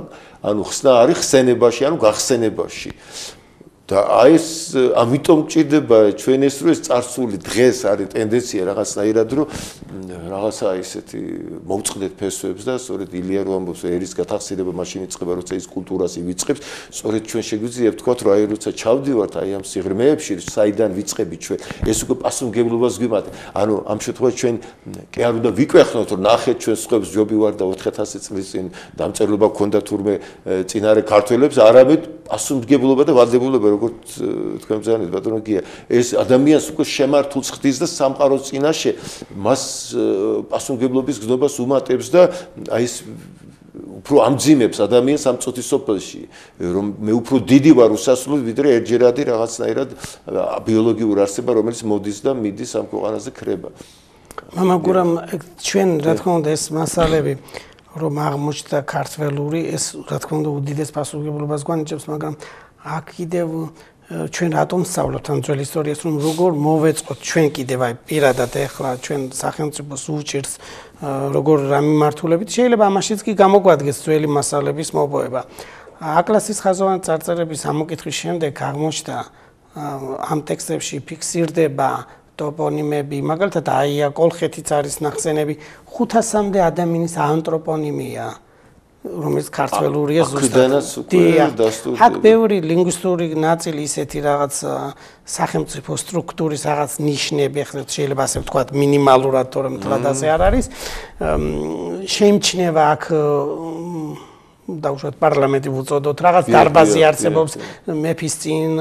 ანუ ხსნა არის ხსენებაში, ანუ გახსენებაში. და აი ეს ამიტომ ჭირდება ჩვენ ეს რო ეს წარსული დღეს არის ტენდენცია რაღაცნაირად რომ რაღაცა ისეთი მოვწყდეთ ფესვებს და სწორედ ილია რო ამბობს ერის გათახსირება მაშინ იწყება როცა ის კულტურას ივიწყებს სწორედ ჩვენ შეგვიძლია ვთქვათ რომ აი როცა ჩავდივართ აი ამ სიღრმეებში საიდან ვიწყებით ჩვენ ეს უკვე პასუხისმგებლობას გვიმატა ანუ ამ შემთხვევაში ჩვენ კი არ უნდა ვიკვეხნოთ რომ ნახეთ ჩვენ სხვებს ჯობი ვარ და 4000 წლის წინ დამწერლობა გქონდა თურმე წინარე ქართველებს არამედ პასუხისმგებლობა და ვალდებულება როგორც თქვენ ბრძანეთ ბატონო გია ეს ადამიანს უკვე შემართულს ხდის და სამყაროს წინაშე მას პასუხისმგებლობის გზნობას უმატებს და აი ეს უფრო ამძიმებს ადამიანს ამ წუთის სოფელში, რომ მე უფრო დიდი ვარ უსასრულოდ, ვიდრე ერთჯერადი რაღაცნაირად ბიოლოგიური არსება, რომელიც მოდის და მიდის ამ ქვეყანაზე ქრება. მამა გურამ ჩვენ რა თქმა უნდა ეს მასალები რომ აღმოჩნდა ქართველური ეს რა თქმა უნდა უდიდეს პასუხისმგებლობას გვანიჭებს, მაგრამ აქ კიდევ ჩვენ რატომ სწავლობთ ამ ძველ ისტორიას, რომ როგორ მოვეწყოთ ჩვენ კიდევ აი პირადად ახლა ჩვენ სახელმწიფოს უჭირს როგორ რა მიმართულებით შეიძლება ამაშიც კი გამოგვადგეს ძველი მასალების მოპოვება. აკლასის ხაზოვანი წარწერების ამოკითხვის შემდეგ აღმოჩნდა ამ ტექსტებში ფიქსირდება ტოპონიმები, მაგალითად აია კოლხეთიც არის ნახსენები 500-მდე ადამიანის ანთროპონიმია, რომელიც ქართველურია ზუსტად. აქ ბევრი ლინგვისტური ნაწილი ისეთი რაღაც სახელმწიფო სტრუქტურის რაღაც ნიშნები, ახლა შეიძლება ასე ვთქვათ, მინიმალურად, თორემ მთლად ასე არ არის. შეიმჩნევა აქ დაუშვათ პარლამენტი ვუწოდოთ, რაღაც დარბაზი არსებობს მეფის წინ,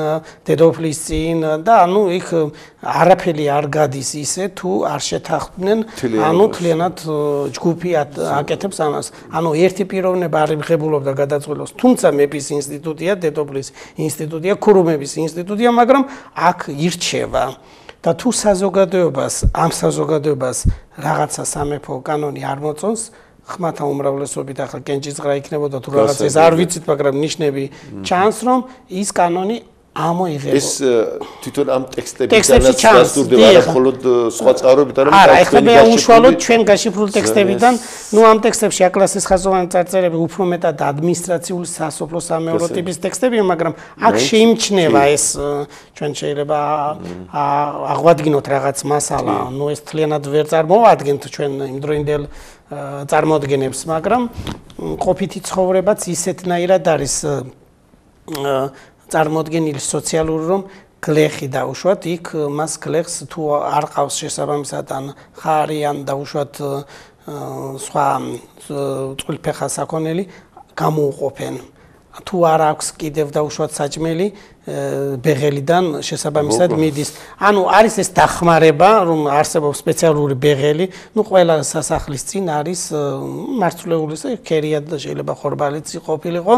დედოფლის წინ და ანუ იქ არაფერი არ გადის ისე თუ არ შეთანხმდნენ, ანუ თლიანად ჯგუფი აკეთებს ამას. ანუ ერთი პიროვნება არ იმღებულობდა გადაწყვეტილებას, თუმცა მეფის ინსტიტუტია, დედოფლის ინსტიტუტია, ქურუმების ინსტიტუტია, მაგრამ აქ ირჩევა. და თუ საზოგადოებას, ამ საზოგადოებას რაღაცა სამეფო კანონი არ მოწონს, ხმათა უმრავლესობით ახლა კენჭისყრა იქნებოდა თუ რაღაც ეს არ ვიცით, მაგრამ ნიშნები ჩანს, რომ ის კანონი ამოიღებო. ეს თვითონ ამ ტექსტებიდანაც დასტურდება, არა მხოლოდ სხვა წყაროებით, არამედ არა, ეხლა მე უშუალოდ ჩვენ გაშიფრულ ტექსტებიდან, ნუ ამ ტექსტებში აკლასის ხაზოვანი წარწერები უფრო მეტად ადმინისტრაციული სასოფლო-სამეურნეო ტიპის ტექსტებია, მაგრამ აქ შეიმჩნევა ეს ჩვენ შეიძლება აღვადგინოთ რაღაც მასალა, ნუ ეს თლიანად ვერ წარმოვადგენთ ჩვენ იმდროინდელ წარმოადგენებს, მაგრამ ყოფითი ცხოვრებაც ისეთნაირად არის წარმოადგენილი სოციალური, რომ გლეხი დაუშვათ, იქ მას გლეხს თუ არ ყავს შესაბამისად ან ხარი ან დაუშვათ სხვა წყვილფეხა საქონელი გამოუყოფენ. თუ არ აქვს კიდევ დაუშვათ საჭმელი ბეღელიდან შესაბამისად მიდის. ანუ არის ეს დახმარება, რომ არსებობს სპეციალური ბეღელი, ნუ ყველა სასახლის წინ არის მარცვლეულის ქერიად და შეიძლება ხორბალიც ყოფილიყო,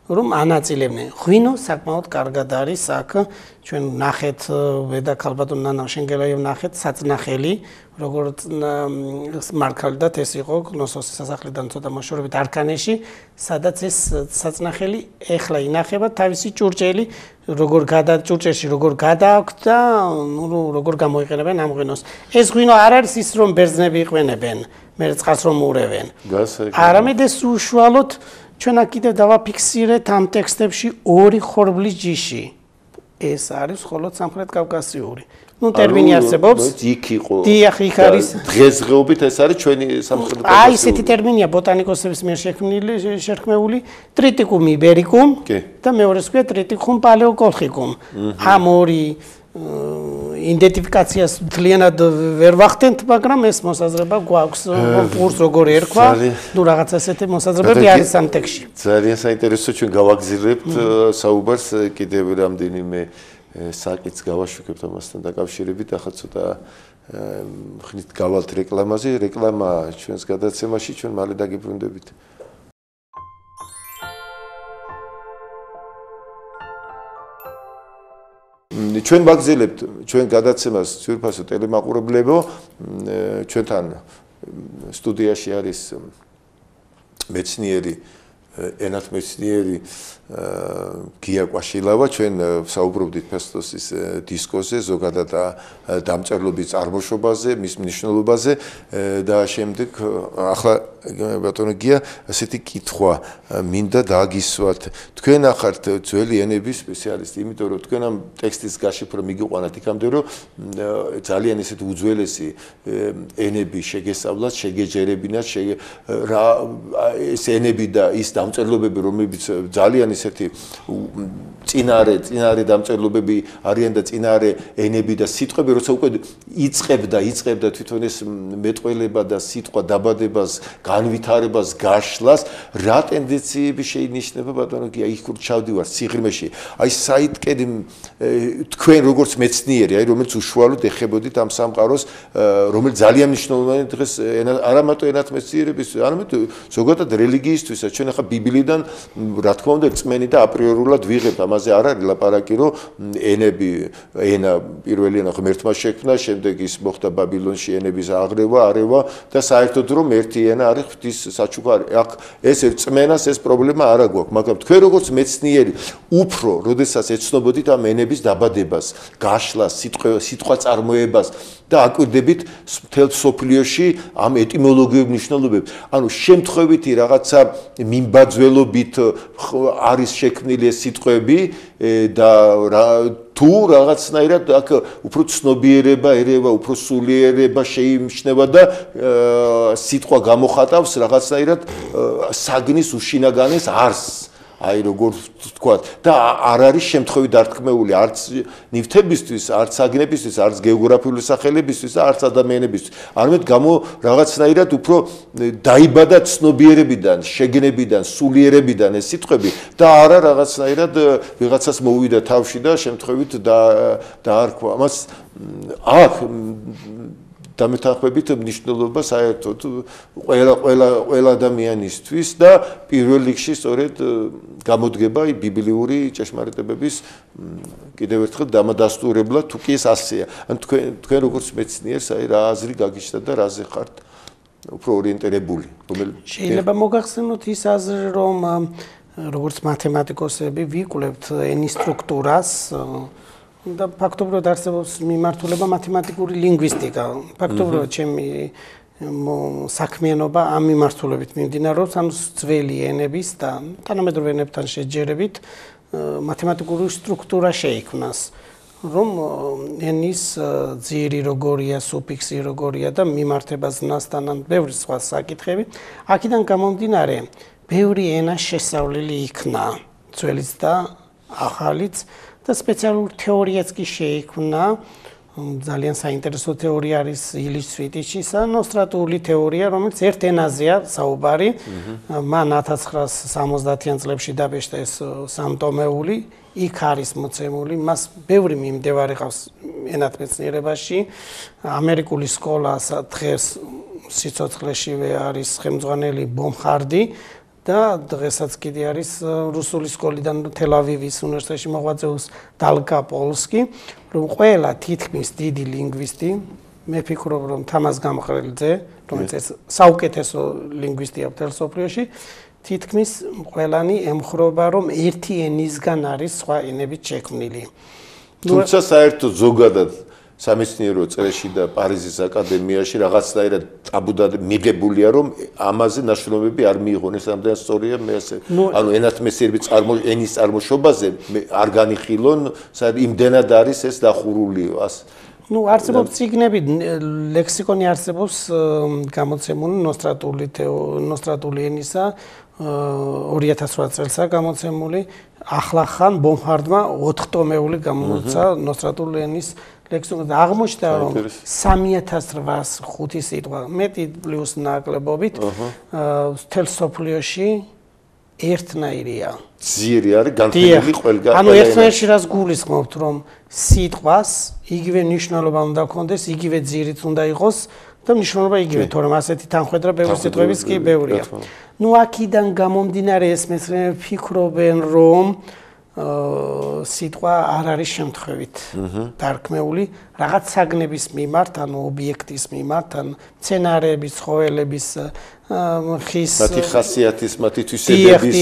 რომ ანაწილებდნენ. ღვინო საკმაოდ კარგად არის აქ, ჩვენ ნახეთ ვედაქალბატონ ნანა შენგელაიევ ნახეთ საწნახელი, როგორც მარქალდათ ეს იყო ნოსოსის სასახლიდან ცოტა მოშორებით არქანეში, სადაც ეს საწნახელი ეხლა ინახება თავისი ჭურჭელი როგორ ჭურჭელში როგორ გადააქვთ და როგორ გამოიყენებენ ამ ღვინოს. ეს ღვინო არ არის ის რომ ბერძნები იყვენებენ, მე წყალს რომ ურევენ. არამედ ეს უშუალოდ ჩვენ აქ კიდევ დავაფიქსირეთ ამ ტექსტებში ორი ხორბლის ჯიში. ეს არის მხოლოდ სამხრეთ კავკასიური. ნუ ტერმინი არსებობს. იქ იყო. დიახ, იქ არის. დღესდღეობით ეს არის ჩვენი სამხრეთ კავკასიური. აი, ესეთი ტერმინია ბოტანიკოსების მიერ შექმნილი ტრიტიკუმ იბერიკუმ და მეორეს ქვია ტრიტიკუმ პალეოკოლხიკუმ. ამ ორი იდენტიფიკაციას მთლიანად ვერ ვახდენთ, მაგრამ ეს მოსაზრება გვაქვს, პურს როგორ ერქვა, ნუ რაღაც ასეთი მოსაზრებები არის ამ ტექსტში. ძალიან საინტერესო, ჩვენ გავაგზავნებთ საუბარს კიდევ რამდენიმე საკითხს გავაშუქებთ ამასთან დაკავშირებით, ახლა ცოტა ხნით გავალთ რეკლამაზე, რეკლამა ჩვენს გადაცემაში, ჩვენ მალე დაგიბრუნდებით. ჩვენ ვაგზელებთ ჩვენ გადაცემას ძვირფასო ტელემაყურებლებო, ჩვენთან სტუდიაში არის მეცნიერი ენათმეცნიერი გია კვაშილავა, ჩვენ საუბრობდით ფესტოსის დისკოზე, ზოგადად დამწერლობის წარმოშობაზე, მის მნიშვნელობაზე და შემდეგ ახლა ბატონო გია ასეთი კითხვა მინდა დაგისვათ. თქვენ ახართ ძველი ენების სპეციალისტი, იმიტომ რომ თქვენ ამ ტექსტის გაშიფრვა მიგიყვანათ იქამდე, რომ ძალიან ესეთი უძველესი ენები შეგესწავლათ, შეგეჯერებინათ, ეს ენები და ის დამწერლობები, რომლებიც ძალიან ისეთი წინარე დამწერლობები არიან და წინარე ენები და სიტყვები, როცა უკვე იწყებდა თვითონ ეს მეტყველება და სიტყვა დაბადებას, განვითარებას, გაშლას, რა ტენდენციები შეინიშნება ბატონო კი აი იქ ჩავდივარ სიღრმეში. აი საიტკენ თქვენ როგორც მეცნიერი, აი რომელიც უშუალოდ ეხებოდით ამ სამყაროს, რომელიც ძალიან მნიშვნელოვანია დღეს არა მარტო ენათმეცნიერებისთვის, არამედ ზოგადად რელიგიისთვისაც. ჩვენ ახლა ბიბლიიდან რა თქმა უნდა წმენი და აპრიორულად ვიღებთ, ამაზე არ არის ლაპარაკი, რომ ენა პირველი ენა ღმერთმა შექმნა, შემდეგ ის მოხდა ბაბილონში ენების აღრევა და საერთოდ რომ ერთი ენა არის ღვთის საჩუქარი. აქ ეს წმენას ეს პრობლემა არ აქვს, მაგრამ თქვენ როგორც მეცნიერი უფრო როდესაც ეცნობოდით ამ ენების დაბადებას, გაშლას, სიტყვა წარმოებას და აკვირდებით მთელ სოფლიოში ამ ეტიმოლოგიურ მნიშვნელობებს. ანუ შემთხვევითი რაღაცა მიმბაძველობით არის შექმნილი ეს სიტყვები და თუ რაღაცნაირად აქ უფრო ცნობიერება ერევა, უფრო სულიერება შეიმჩნევა და სიტყვა გამოხატავს რაღაცნაირად საგნის უშინაგანეს არსს. აი როგორ თქვა და არ არის შემთხვევით დარქმეული არც ნივთებისთვის, არც საგნებისთვის, არც გეოგრაფიული სახელებისთვის და არც ადამიანებისთვის. არამედ რაღაცნაირად უფრო დაიბადა ცნობიერებიდან, შეგნებიდან, სულიერებიდან ეს სიტყვები და არა რაღაცნაირად ვიღაცას მოვიდა თავში და შემთხვევით დაარქვა. ამას აქ დამეთანხმებით მნიშვნელობა საერთოდ ყველა ადამიანისთვის და პირველ რიგში სწორედ გამოდგება ბიბლიური ჭეშმარიტებების კიდევ ერთხელ დამადასტურებლად თუ კი ეს ასეა. ან თქვენ როგორც მეცნიერს აი რა აზრი გაგიჩნდა და რაზე ხართ უფრო ორიენტირებული? შეიძლება მოგახსენოთ ის აზრი, რომ როგორც მათემატიკოსები ვიკვლევთ ენის სტრუქტურას და ფაქტობრივად არსებობს მიმართულება მათემატიკური ლინგვისტიკა. ფაქტობრივად ჩემი საქმიანობა ამ მიმართულებით მიმდინარეობს, ანუ ძველი ენების და თანამედროვე ენებთან შეჯერებით მათემატიკური სტრუქტურა შეიქმნას, რომ ენის ძირი როგორია, სუფიქსი როგორია და მიმართება ზნასთან ან ბევრი სხვა საკითხები. აქედან გამომდინარე, ბევრი ენა შესწავლილი იქნა, ძველიც და ახალიც. და სპეციალური თეორიაც კი შეიქმნა, ძალიან საინტერესო თეორია არის ილის სვიტიჩისა, ნოსტრატული თეორია, რომელიც ერთ ენაზეა საუბარი. მან 1970-იან წლებში დაბეჭდა ეს სამტომეული, იქ არის მოცემული, მას ბევრი მიმდევარი ყავს ენათმეცნიერებაში. ამერიკული სკოლა დღეს სიცოცხლეშივე არის ხელმძღვანელი ბომხარდი. და დღესაც კიდე არის რუსული სკოლიდან თელ-ავივის უნივერსიტეტში მოღვაწეობს დალკა პოლსკი, რომ ყველა თითქმის დიდი ლინგვისტი, მე ფიქრობ, რომ თამაზ გამყრელძე, რომელიც საუკეთესო ლინგვისტია მთელ სოფლიოში, თითქმის ყველანი ემხრობა, რომ ერთი ენისგან არის სხვა ენებით შექმნილი. თუმცა საერთოდ ზოგადად სამეცნიერო წრეში და პარიზის აკადემიაში რაღაცნაირად ტაბუდად მიღებულია, რომ ამაზე ნაშრომები არ მიიღონეს, ამდენ სწორია მე ასე. ანუ ენათმეცნიერების ენის წარმოშობაზე არ განიხილონ, იმდენად არის ეს დახურული. არსებობს წიგნები, ლექსიკონი არსებობს გამოცემული ნოსტრატული ენისა 2008 წელსა გამოცემული, ახლახან ბომხარდმა 4 ტომეული გამოიცა ნოსტრატული ენის ლექსიკონი და აღმოჩნდა, რომ 3805 სიტყვა, მეტი პლუს ნაკლებობით მთელ სოფლიოში ერთნაირია. ძირი არის განხილული ყველგან. ანუ ერთნაირში რას გულისხმობთ, რომ სიტყვას იგივე ნიშნულობა უნდა ჰქონდეს, იგივე ძირიც უნდა იყოს და მნიშვნელობა იგივე, თორემ ასეთი თანხმედრა ბევრი სიტყვების კი ბევრია. ნუ აქედან გამომდინარე ეს მეცნიერები ფიქრობენ, რომ სიტყვა არ არის შემთხვევით დარქმეული რაღაც საგნების მიმართ, ანუ ობიექტის მიმართ, ან მცენარეების, ცხოველების ხის მათი ხასიათის, მათი თვისებების.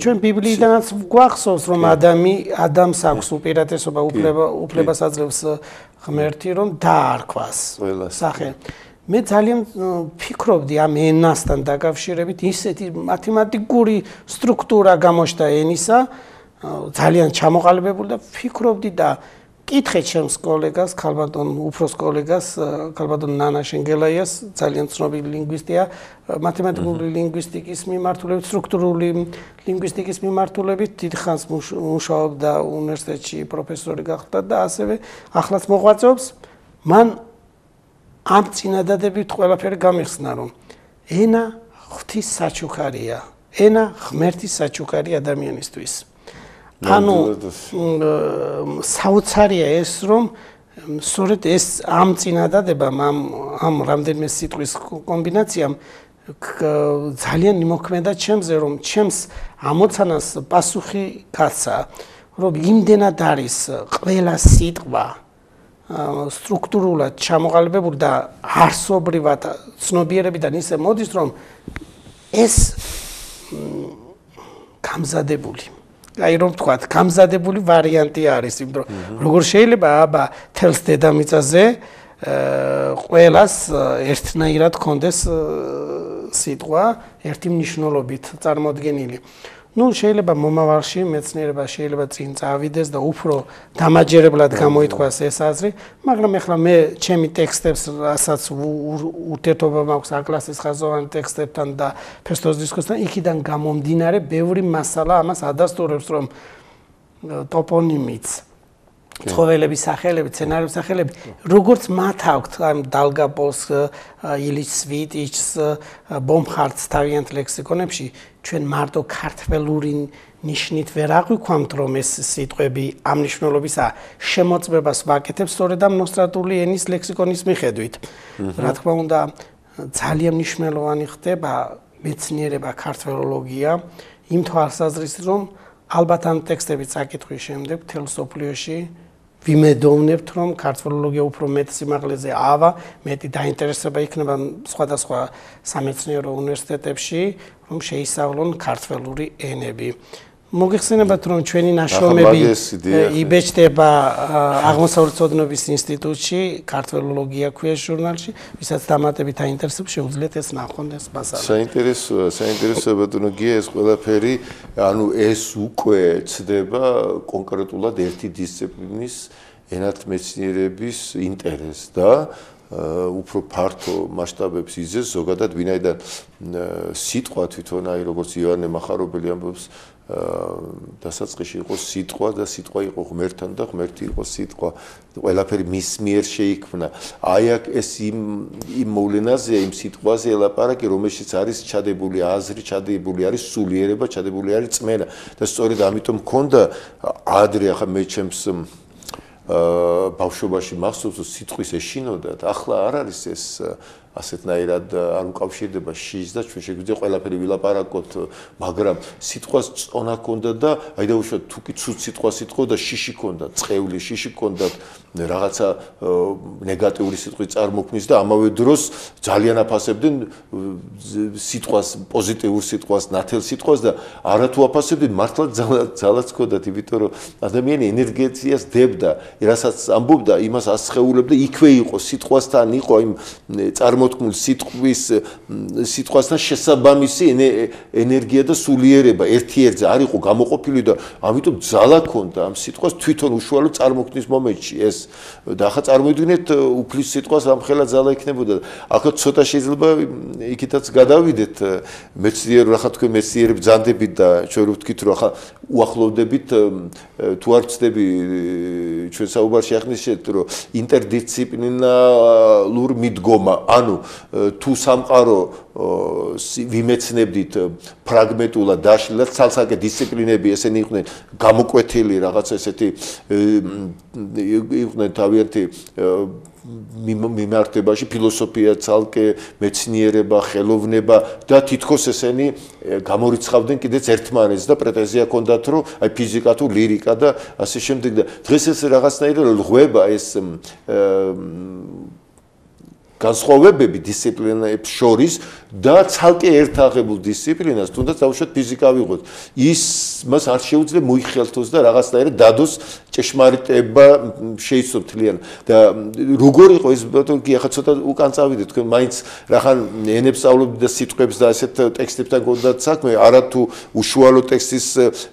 ჩვენ ბიბლიიდანაც გვახსოვს, რომ ადამიანს აქვს უპირატესობა, უფლებას აძლევს ღმერთი, რომ დაარქვას სახე. მე ძალიან ფიქრობდი ამ ენასთან დაკავშირებით, ისეთი მათემატიკური სტრუქტურა გამოჩნდა ენისა, ძალიან ჩამოყალიბებული და ფიქრობდი და კითხე ჩემს კოლეგას, ქალბატონ უფროს კოლეგას, ქალბატონ ნანა შენგელაიას, ძალიან ცნობილი ლინგვისტია, მათემატიკური ლინგვისტიკის მიმართულებით, სტრუქტურული ლინგვისტიკის მიმართულებით დიდხანს მუშაობდა უნივერსიტეტში, პროფესორი გახდა და ასევე ახლაც მოღვაწეობს. მან ამ წინადადებით ყველაფერი გამიხსნა, რომ ენა ღვთის საჩუქარია, ენა ღმერთის საჩუქარი ადამიანისთვის. ანუ საოცარია ეს, რომ სწორედ ეს ამ წინადადებამ, ამ რამდენიმე სიტყვის კომბინაციამ ძალიან იმოქმედა ჩემზე, რომ ჩემს ამოცანას პასუხი გაცა, რომ იმდენად არის ყველა სიტყვა სტრუქტურულად ჩამოყალიბებული და არსობრივად ცნობიერებიდან ისე მოდის, რომ ეს გამზადებული აი რომ ვთქვათ, გამზადებული ვარიანტი არის, იმიტომ რომ როგორ შეიძლება აბა თელს დედამიწაზე ყველას ერთნაირად კონდეს სიტყვა ერთი მნიშვნელობით წარმოდგენილი. Ну, შეიძლება მომავალში მეცნიერება შეიძლება წინ წავიდეს და უფრო დამაჯერებლად გამოითქვას ეს აზრი, მაგრამ ეხლა მე ჩემი ტექსტებს, რასაც ურთიერთობა მაქვს აკლასის ხაზოვანი ტექსტებთან და ფესტოს დისკოსთან, იქიდან გამომდინარე, ბევრი მასალა ამას ადასტურებს, რომ ტოპონიმიც, ცხოველების სახელები, სცენარების სახელები, როგორც მათ აქვთ ამ დალგაპოლს, ილიჩ სვიტიჩს, ბომხარტს თავიანთ ლექსიკონებში, ჩვენ მარტო ქართველური ნიშნით ვერ აღვიქვამთ, რომ ეს სიტყვები ამ მნიშვნელობისა შემოწმებას ვაკეთებს სწორედ ამ ნოსტრატული ენის ლექსიკონის მიხედვით. რა თქმა უნდა, ძალიან მნიშვნელოვანი ხდება მეცნიერება, ქართველოლოგია, იმ თვალსაზრისით, რომ ალბათ ამ ტექსტების წაკითხვის შემდეგ მთელ სოფლიოში ვიმედოვნებთ, რომ ქართველოლოგია უფრო მეტ სიმაღლეზე ავა, მეტი დაინტერესება იქნება სხვადასხვა სამეცნიერო უნივერსიტეტებში, რომ შეისწავლონ ქართველური ენები. მოგეხსენებათ, რომ ჩვენი ნაშრომები იბეჭდება აღმოსავლეთ ცოდნობის ინსტიტუტში, ქართველოლოგია ქვია ჟურნალში, ვისაც დამატებით აინტერესებს, შეუძლიათ ეს ნახონ ეს მასალა. საინტერესოა ბატონო გია ეს ყველაფერი, ანუ ეს უკვე ცდება კონკრეტულად ერთი დისციპლინის ენათმეცნიერების ინტერესს და უფრო ფართო მასშტაბებს იზეს ზოგადად, ვინაიდან სიტყვა თვითონ აი როგორც ივანე მახარობელი ამბობს დასაწყისში იყო სიტყვა და სიტყვა იყო ღმერთთან და ღმერთი იყო სიტყვა, ყველაფერი მის მიერ შეიქმნა. აი აქ ეს იმ მოვლენაზეა, იმ სიტყვაზე ელაპარაკი, რომელშიც არის ჩადებული აზრი, ჩადებული არის სულიერება, ჩადებული არის წმენა და სწორედ ამიტომ მქონდა ადრე ახლა მე ჩემს ბავშვობაში მახსოვს, რომ სიტყვის ეშინოდათ, ახლა არ არის ეს ასეთნაირად არ უკავშირდება შიშს და ჩვენ შეგვიძლია ყველაფერი ვილაპარაკოთ, მაგრამ სიტყვას წონა ჰქონდა და აი დაუშვათ თუ კი ცუდ სიტყვას იტყო და შიში ჰქონდა, წყეული შიში ჰქონდა, რაღაცა ნეგატიური სიტყვი წარმოქმნის და ამავე დროს ძალიან აფასებდნენ სიტყვას, პოზიტიურ სიტყვას, ნათელ სიტყვას და არათუ აფასებდნენ მართლა ძალაც ჰქონდათ, იმიტომ რომ ადამიანი ენერგიას დებდა, რასაც ამბობდა, იმას ასხეულებდა, იქვე იყო, სიტყვასთან იყო იმ წარმოქმნილ სიტყვასთან შესაბამისი ენერგია და სულიერება ერთ-ერთზე არ იყო გამოყოფილი და ამიტომ ძალა ჰქონდა ამ სიტყვას თვითონ უშუალოდ წარმოქმნის მომენტში ეს და ახლა წარმოვიდგინეთ უფლის სიტყვას ამხელა ძალა იქნებოდა. ახლა ცოტა შეიძლება იქითაც გადავიდეთ მეცნიერო, ახლა თქვენ მეცნიერები ბრძანდებით და ჩვენ ვთქვით რომ ახლა უახლოვდებით თუ არ ვწდები ჩვენ საუბარში ახნიშნეთ რომ ინტერდისციპლინარულ მიდგომა, ანუ თუ სამყარო ვიმეცნებდით ფრაგმენტულად დაშლილად, ცალ-ცალკე დისციპლინები ესენი იყვნენ გამოკვეთილი რაღაც ესეთი იყვნენ თავიანთი მიმართებაში, ფილოსოფია, ცალკე მეცნიერება, ხელოვნება და თითქოს ესენი გამორიცხავდნენ კიდეც ერთმანეთს და პრეტენზია ჰქონდათ, რომ აი ფიზიკა თუ ლირიკა და ასე შემდეგ და დღეს ეს რაღაცნაირად ღვება ეს განსხვავებები დისციპლინებს შორის და ცალკე ერთაღებულ დისციპლინას, თუნდაც დავუშვათ ფიზიკა ვიღოთ, მას არ შეუძლია მოიხელთოს და რაღაცნაირად დადოს ჭეშმარიტება შეიცვალოს თლიან და როგორ იყო ეს ბატონი, ახლა ცოტა უკან წავიდეთ, თქვენ მაინც რახან ენებს სწავლობთ და სიტყვებს და ასეთ ტექსტებთან გქონდათ საქმე, არა თუ უშუალო ტექსტის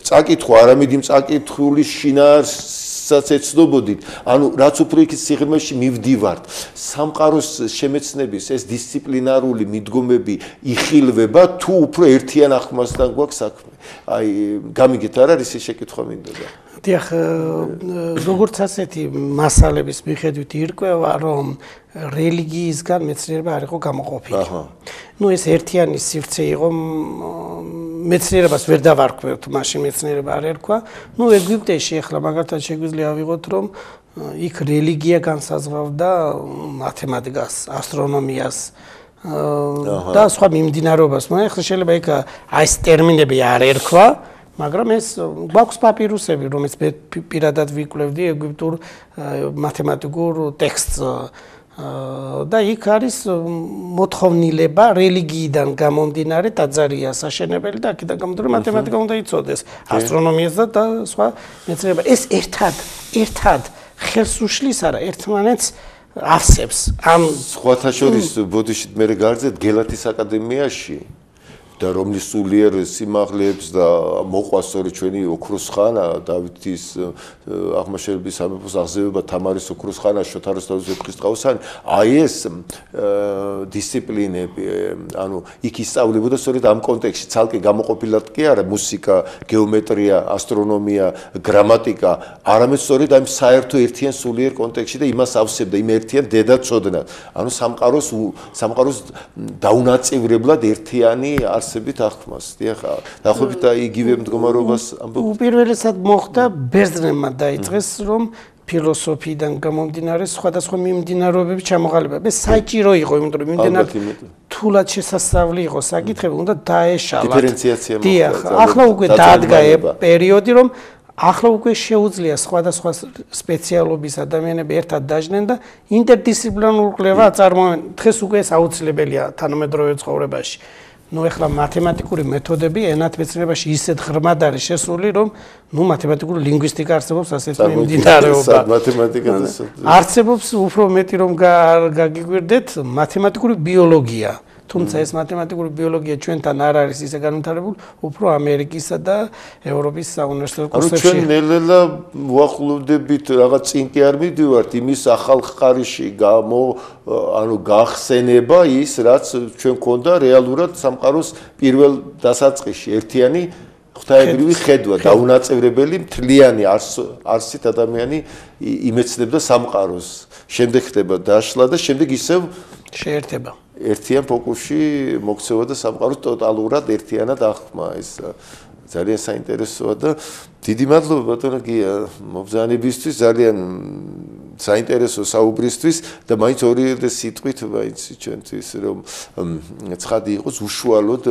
წაკითხვა, არამედ იმ წაკითხული შინაარსის ღვთისაც ეცნობოდით, ანუ რაც უფრო იქით სიღრმეში მივდივართ, სამყაროს შემეცნების ეს დისციპლინარული მიდგომები იხილვება თუ უფრო ერთიან აღქმასთან გვაქვს საქმე. აი, გამიგეთ არ არის ეს შეკითხვა მინდოდა. დიახ, როგორც ასეთი მასალების მიხედვით ირკვევა, რომ რელიგიისგან მეცნიერება არ იყო გამოყოფილი. ნუ ეს ერთიანი სივრცე იყო, მეცნიერებას ვერ დავარქვევთ, მაშინ მეცნიერება არ ერქვა. ნუ ეგვიპტეში ახლა მაგალითად შეგვიძლია ავიღოთ, რომ იქ რელიგია განსაზღვრავდა მათემატიკას, ასტრონომიას და სხვა მიმდინარეობას. ახლა შეიძლება იქ აი ეს ტერმინები არ ერქვა, მაგრამ ეს გვაქვს პაპირუსები, რომელიც პირადად ვიკვლევდი ეგვიპტურ მათემატიკურ ტექსტს და იქ არის მოთხოვნილება რელიგიიდან გამომდინარე დაძარია საშენებელი და აქედან გამომდინარე მათემატიკა უნდა იცოდეს, ასტრონომიას და სხვა მეცნიერება. ეს ერთად ხელს უშლის არა, ერთმანეთს ავსებს. ამ სხვათა შორის ბოდიშით მე გარძეთ გელათის აკადემიაში და რომლის სულიერ სიმაღლეებს და მოყვა სწორედ ჩვენი ოქროს ხანა, დავითის აღმაშენებლის სამეფოს აღზევება, თამარის ოქროს ხანა, შოთა რუსთავის ვეფხისტყაოსანი, აი ეს დისციპლინები, ანუ იქ ისწავლებოდა სწორედ ამ კონტექსტში, ცალკე გამოყოფილად კი არა, მუსიკა, გეომეტრია, ასტრონომია, გრამატიკა, არამედ სწორედ ამ საერთო ერთიან სულიერ კონტექსტში და იმას ავსებდა, იმ ერთიან დედაცოდნად. ანუ სამყაროს დაუნაწევრებლად ერთიანი არსებით აღქმას. დიახ, დაახლოებით იგივე მდგომარეობას ამბობ. უპირველესად მოხდა ბერძნებმა დაიწყეს, რომ ფილოსოფიიდან გამომდინარე სხვადასხვა მიმდინარეობების ჩამოყალიბება. ეს საჭირო იყო, იმიტომ რომ მიმდინარე თულად შესასწავლი იყო საკითხები, უნდა დაეშალათ. დიფერენციაცია მოხდა. დიახ, ახლა უკვე დაადგა პერიოდი, რომ ახლა უკვე შეუძლია სხვადასხვა სპეციალობის ადამიანები ერთად დაждდნენ და ინტერდისციპლინარული კვლევა აწარმოებენ. დღეს უკვე ეს აუცილებელია თანამედროვე ცხოვრებაში. ნუ ახლა მათემატიკური მეთოდები ენათმეცნიერებაში ისეთ ღრმად არის შესული, რომ ნუ მათემატიკური ლინგვისტიკა არსებობს ასეთი მიმდინარეობა. მათემატიკას არსებობს უფრო მეტი რომ გაგიგვირდეთ მათემატიკური ბიოლოგია. თუმცა ეს მათემატიკური ბიოლოგია ჩვენთან არ არის ისე განვითარებული, უფრო ამერიკისა და ევროპის საუნივერსიტეტო კურსებში. ჩვენ ნელ-ნელა ვახლოვდებით რაღაც წინ კი არ მიდივართ იმის ახალ ხარისში გახსენება ის, რაც ჩვენ ქონდა რეალურად სამყაროს პირველ დასაწყისში, ერთიანი ღვთაებრივი ხედვა, დაუნაწევრებელი მთლიანი არსით ადამიანი იმეცნებდა სამყაროს. შემდეგ ხდება დაშლა და შემდეგ ისევ შეერთება. ერთიან ფოკუსში მოქცევა და სამყაროს ტოტალურად ერთიანად აღქმა. ეს ძალიან საინტერესოა და დიდი მადლობა ბატონო გია მობრძანებისთვის, ძალიან საინტერესო საუბრისთვის და მაინც ორი სიტყვით მაინც ჩვენთვის რომ ცხადი იყოს უშუალოდ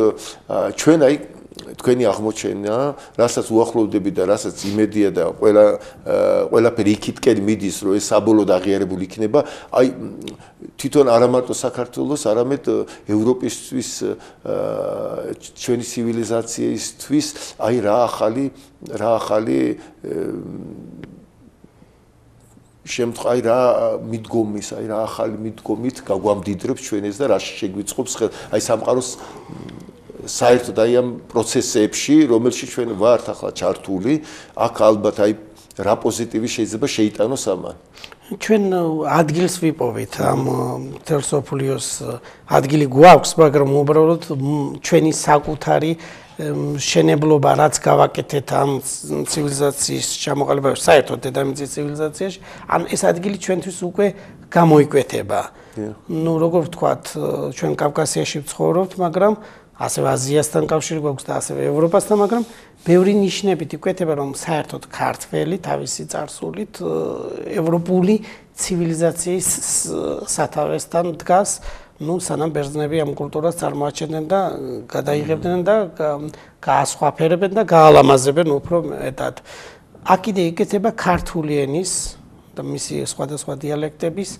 ჩვენ აი თქვენი აღმოჩენა, რასაც უახლოვდები და რასაც იმედია და ყველაფერი იქითკენ მიდის, რომ ეს საბოლოოდ აღიარებული იქნება, აი თვითონ არა მარტო საქართველოს, არამედ ევროპისთვის, ჩვენი ცივილიზაციისთვის, აი რა ახალი შემთხვევა, აი რა მიდგომის, აი რა ახალი მიდგომით გაგვამდიდრებს ჩვენ ეს და რა შეგვიწყობს ხელ, აი სამყაროს საერთოდ აი ამ პროცესებში, რომელშიც ჩვენ ვართ ახლა ჩართული, აქ ალბათ აი რა პოზიტივი შეიძლება შეიტანოს ამან. ჩვენ ადგილს ვიპოვით ამ თელსოფლიოს ადგილი გვაქვს, მაგრამ უბრალოდ ჩვენი საკუთარი შენებლობა რაც გავაკეთეთ ამ ცივილიზაციის ჩამოყალიბებაში, საერთოდ დედამიწის ცივილიზაციაში, ან ეს ადგილი ჩვენთვის უკვე გამოიკვეთება. ნუ როგორ ვთქვათ, ჩვენ კავკასიაში ვცხოვრობთ, მაგრამ ასევე აზიასთან კავშირი გვაქვს და ასევე ევროპასთან, მაგრამ ბევრი ნიშნებით იკვეთება, რომ საერთოდ ქართველი თავისი წარსულით ევროპული ცივილიზაციის სათავესთან დგას, ნუ სანამ ბერძნები ამ კულტურას წარმოაჩენდნენ და გადაიღებდნენ და გაასხვაფერებენ და გაალამაზებენ უფრო მეტად. აქ კიდე იკეთება ქართული ენის და მისი სხვადასხვა დიალექტების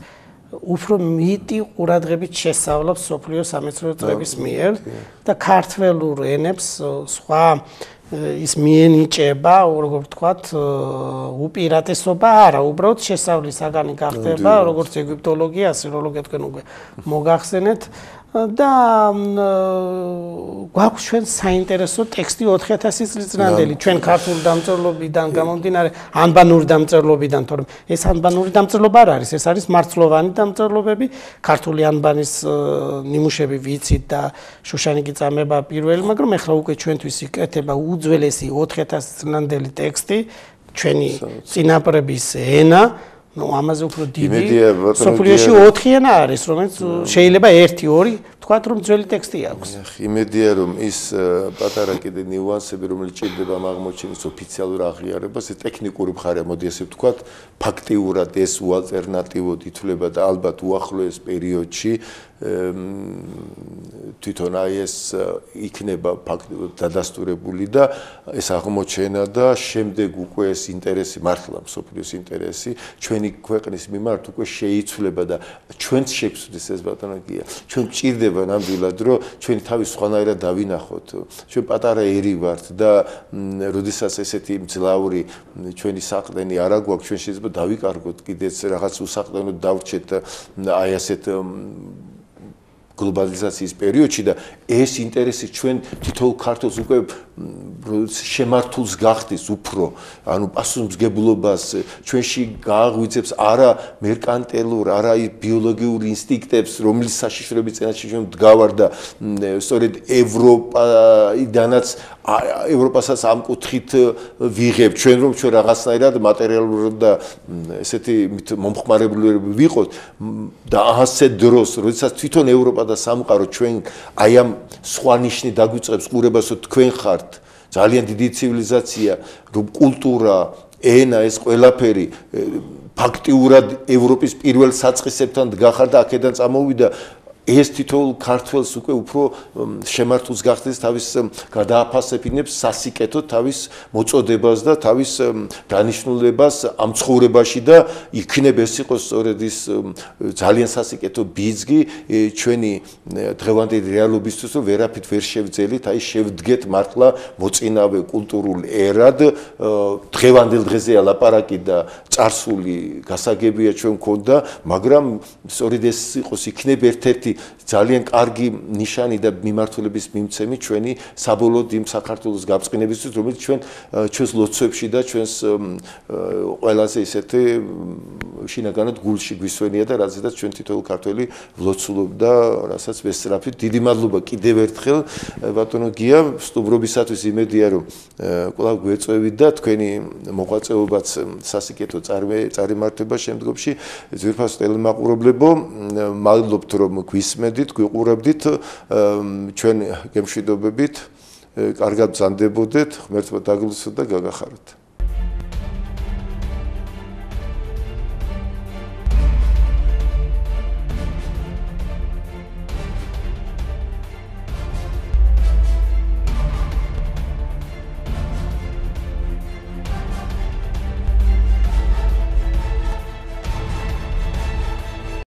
უფრო მეტი ყურადღებით შესწავლობს სოფლიო სამეცნიერო წრეების მიერ და ქართველურ ენებს სხვა ის მიენიჭება, როგორ ვთქვათ, უპირატესობა არა, უბრალოდ შესწავლის საგანი გახდება, როგორც ეგვიპტოლოგია, ასიროლოგია თქვენ უკვე მოგახსენეთ. და გვაქვს ჩვენ საინტერესო ტექსტი 4000 წლის წინანდელი ჩვენ ქართული დამწერლობიდან გამომდინარე ანბანური დამწერლობიდან თორემ ეს ანბანური დამწერლობა არ არის ეს არის მარცვლოვანი დამწერლობები ქართული ანბანის ნიმუშები ვიცით და შუშანიკი წამება პირველი მაგრამ ეხლა უკვე ჩვენთვის იკეთება უძველესი 4000 წინანდელი ტექსტი ჩვენი წინაპრების ენა ну ამაზე უფრო დიდი სოფლიოში 4 ენა არის რომელიც შეიძლება 1-2 თქვათ რომ ძველი ტექსტი აქვს იმედია რომ ის პატარა კიდე ნიუანსები რომელიც ჭირდება აღმოჩენის ოფიციალურ აღიარებას ეს ტექნიკური მხარეა მოდი ასე ვთქვათ ფაქტიურად ეს უალტერნატივოდ ითვლება და ალბათ უახლოეს პერიოდში თვითონ აი ეს იქნება დადასტურებული და ეს აღმოჩენა და შემდეგ უკვე ეს ინტერესი მართლა მსოფლიოს ინტერესი ჩვენი ქვეყნის მიმართ უკვე შეიცვლება და ჩვენც შეგვცვლის ეს ბატონო გია ჩვენ გჭირდება ნამდვილად რომ ჩვენი თავი სხვანაირად დავინახოთ ჩვენ პატარა ერი ვართ და როდესაც ესეთი მძლავრი ჩვენი საყრდენი არ აგვაქვს ჩვენ შეიძლება დავიკარგოთ კიდეც რაღაც უსაყრდენოდ დავრჩეთ აი ასეთ გლობალიზაციის პერიოდში და ეს ინტერესი ჩვენ თითოეულ ქართულს უკვე შემართულს გახდის უფრო ანუ პასუხისმგებლობას ჩვენში გააღვიძებს არა მერკანტილურ არა ბიოლოგიურ ინსტინქტებს რომლის საშიშროების წინაშე ჩვენ ვდგავარ და სწორედ ევროპიდანაც ევროპასაც ამ კუთხით ვიღებ ჩვენ რომ ჩვენ რაღაცნაირად მატერიალურად და ესეთი მომხმარებლები ვიყოთ და ასე დროს როდესაც თვითონ ევროპა და სამყარო ჩვენ აი ამ სხვა ნიშნით დაგვიწყებს ყურებას რომ თქვენ ხართ ძალიან დიდი ცივილიზაცია რომ კულტურა ენა ეს ყველაფერი ფაქტიურად ევროპის პირველ საწყისებთან დგახარ და აქედან წამოვიდა ეს თითოეულ ქართველს უკვე უფრო შემართულს გახდეს თავის გადააფასებინებს სასიკეთო თავის მოწოდებას და თავის დანიშნულებას ამ ცხოვრებაში და იქნებ ეს იყოს სწორედ ის ძალიან სასიკეთო ბიძგი ჩვენი დღევანდელი რეალობისთვის რომ ვერაფრით ვერ შევძელით აი შევდგეთ მართლა მოწინავე კულტურულ ერად დღევანდელ დღეზეა ლაპარაკი და წარსული გასაგებია ჩვენ მქონდა მაგრამ სწორედ ეს იყოს იქნებ ერთ-ერთი ძალიან კარგი ნიშანი და მიმართულების მიმცემი ჩვენი საბოლოოდ იმ საქართველოს გაბრწყინებისთვის რომელიც ჩვენს ლოცვებში და ჩვენს ყველაზე ისეთი შინაგანად გულში გვისვენია და რაზედაც ჩვენ თითოეულ ქართველი ვლოცულობდა რასაც ვესწრაფით დიდი მადლობა კიდევ ერთხელ ბატონო გია სტუმრობისათვის იმედია რომ კვლავ გვეწევით და თქვენი მოღვაწეობაც სასიკეთო წარიმართება შემდგომში ძვირფას ტელემაყურებლებო მადლობთ რომ გვისმენდით გვიყურებდით ჩვენ გემშვიდობებით კარგად ბრძანდებოდეთ ღმერთმა დაგლოცოთ და გაგახაროთ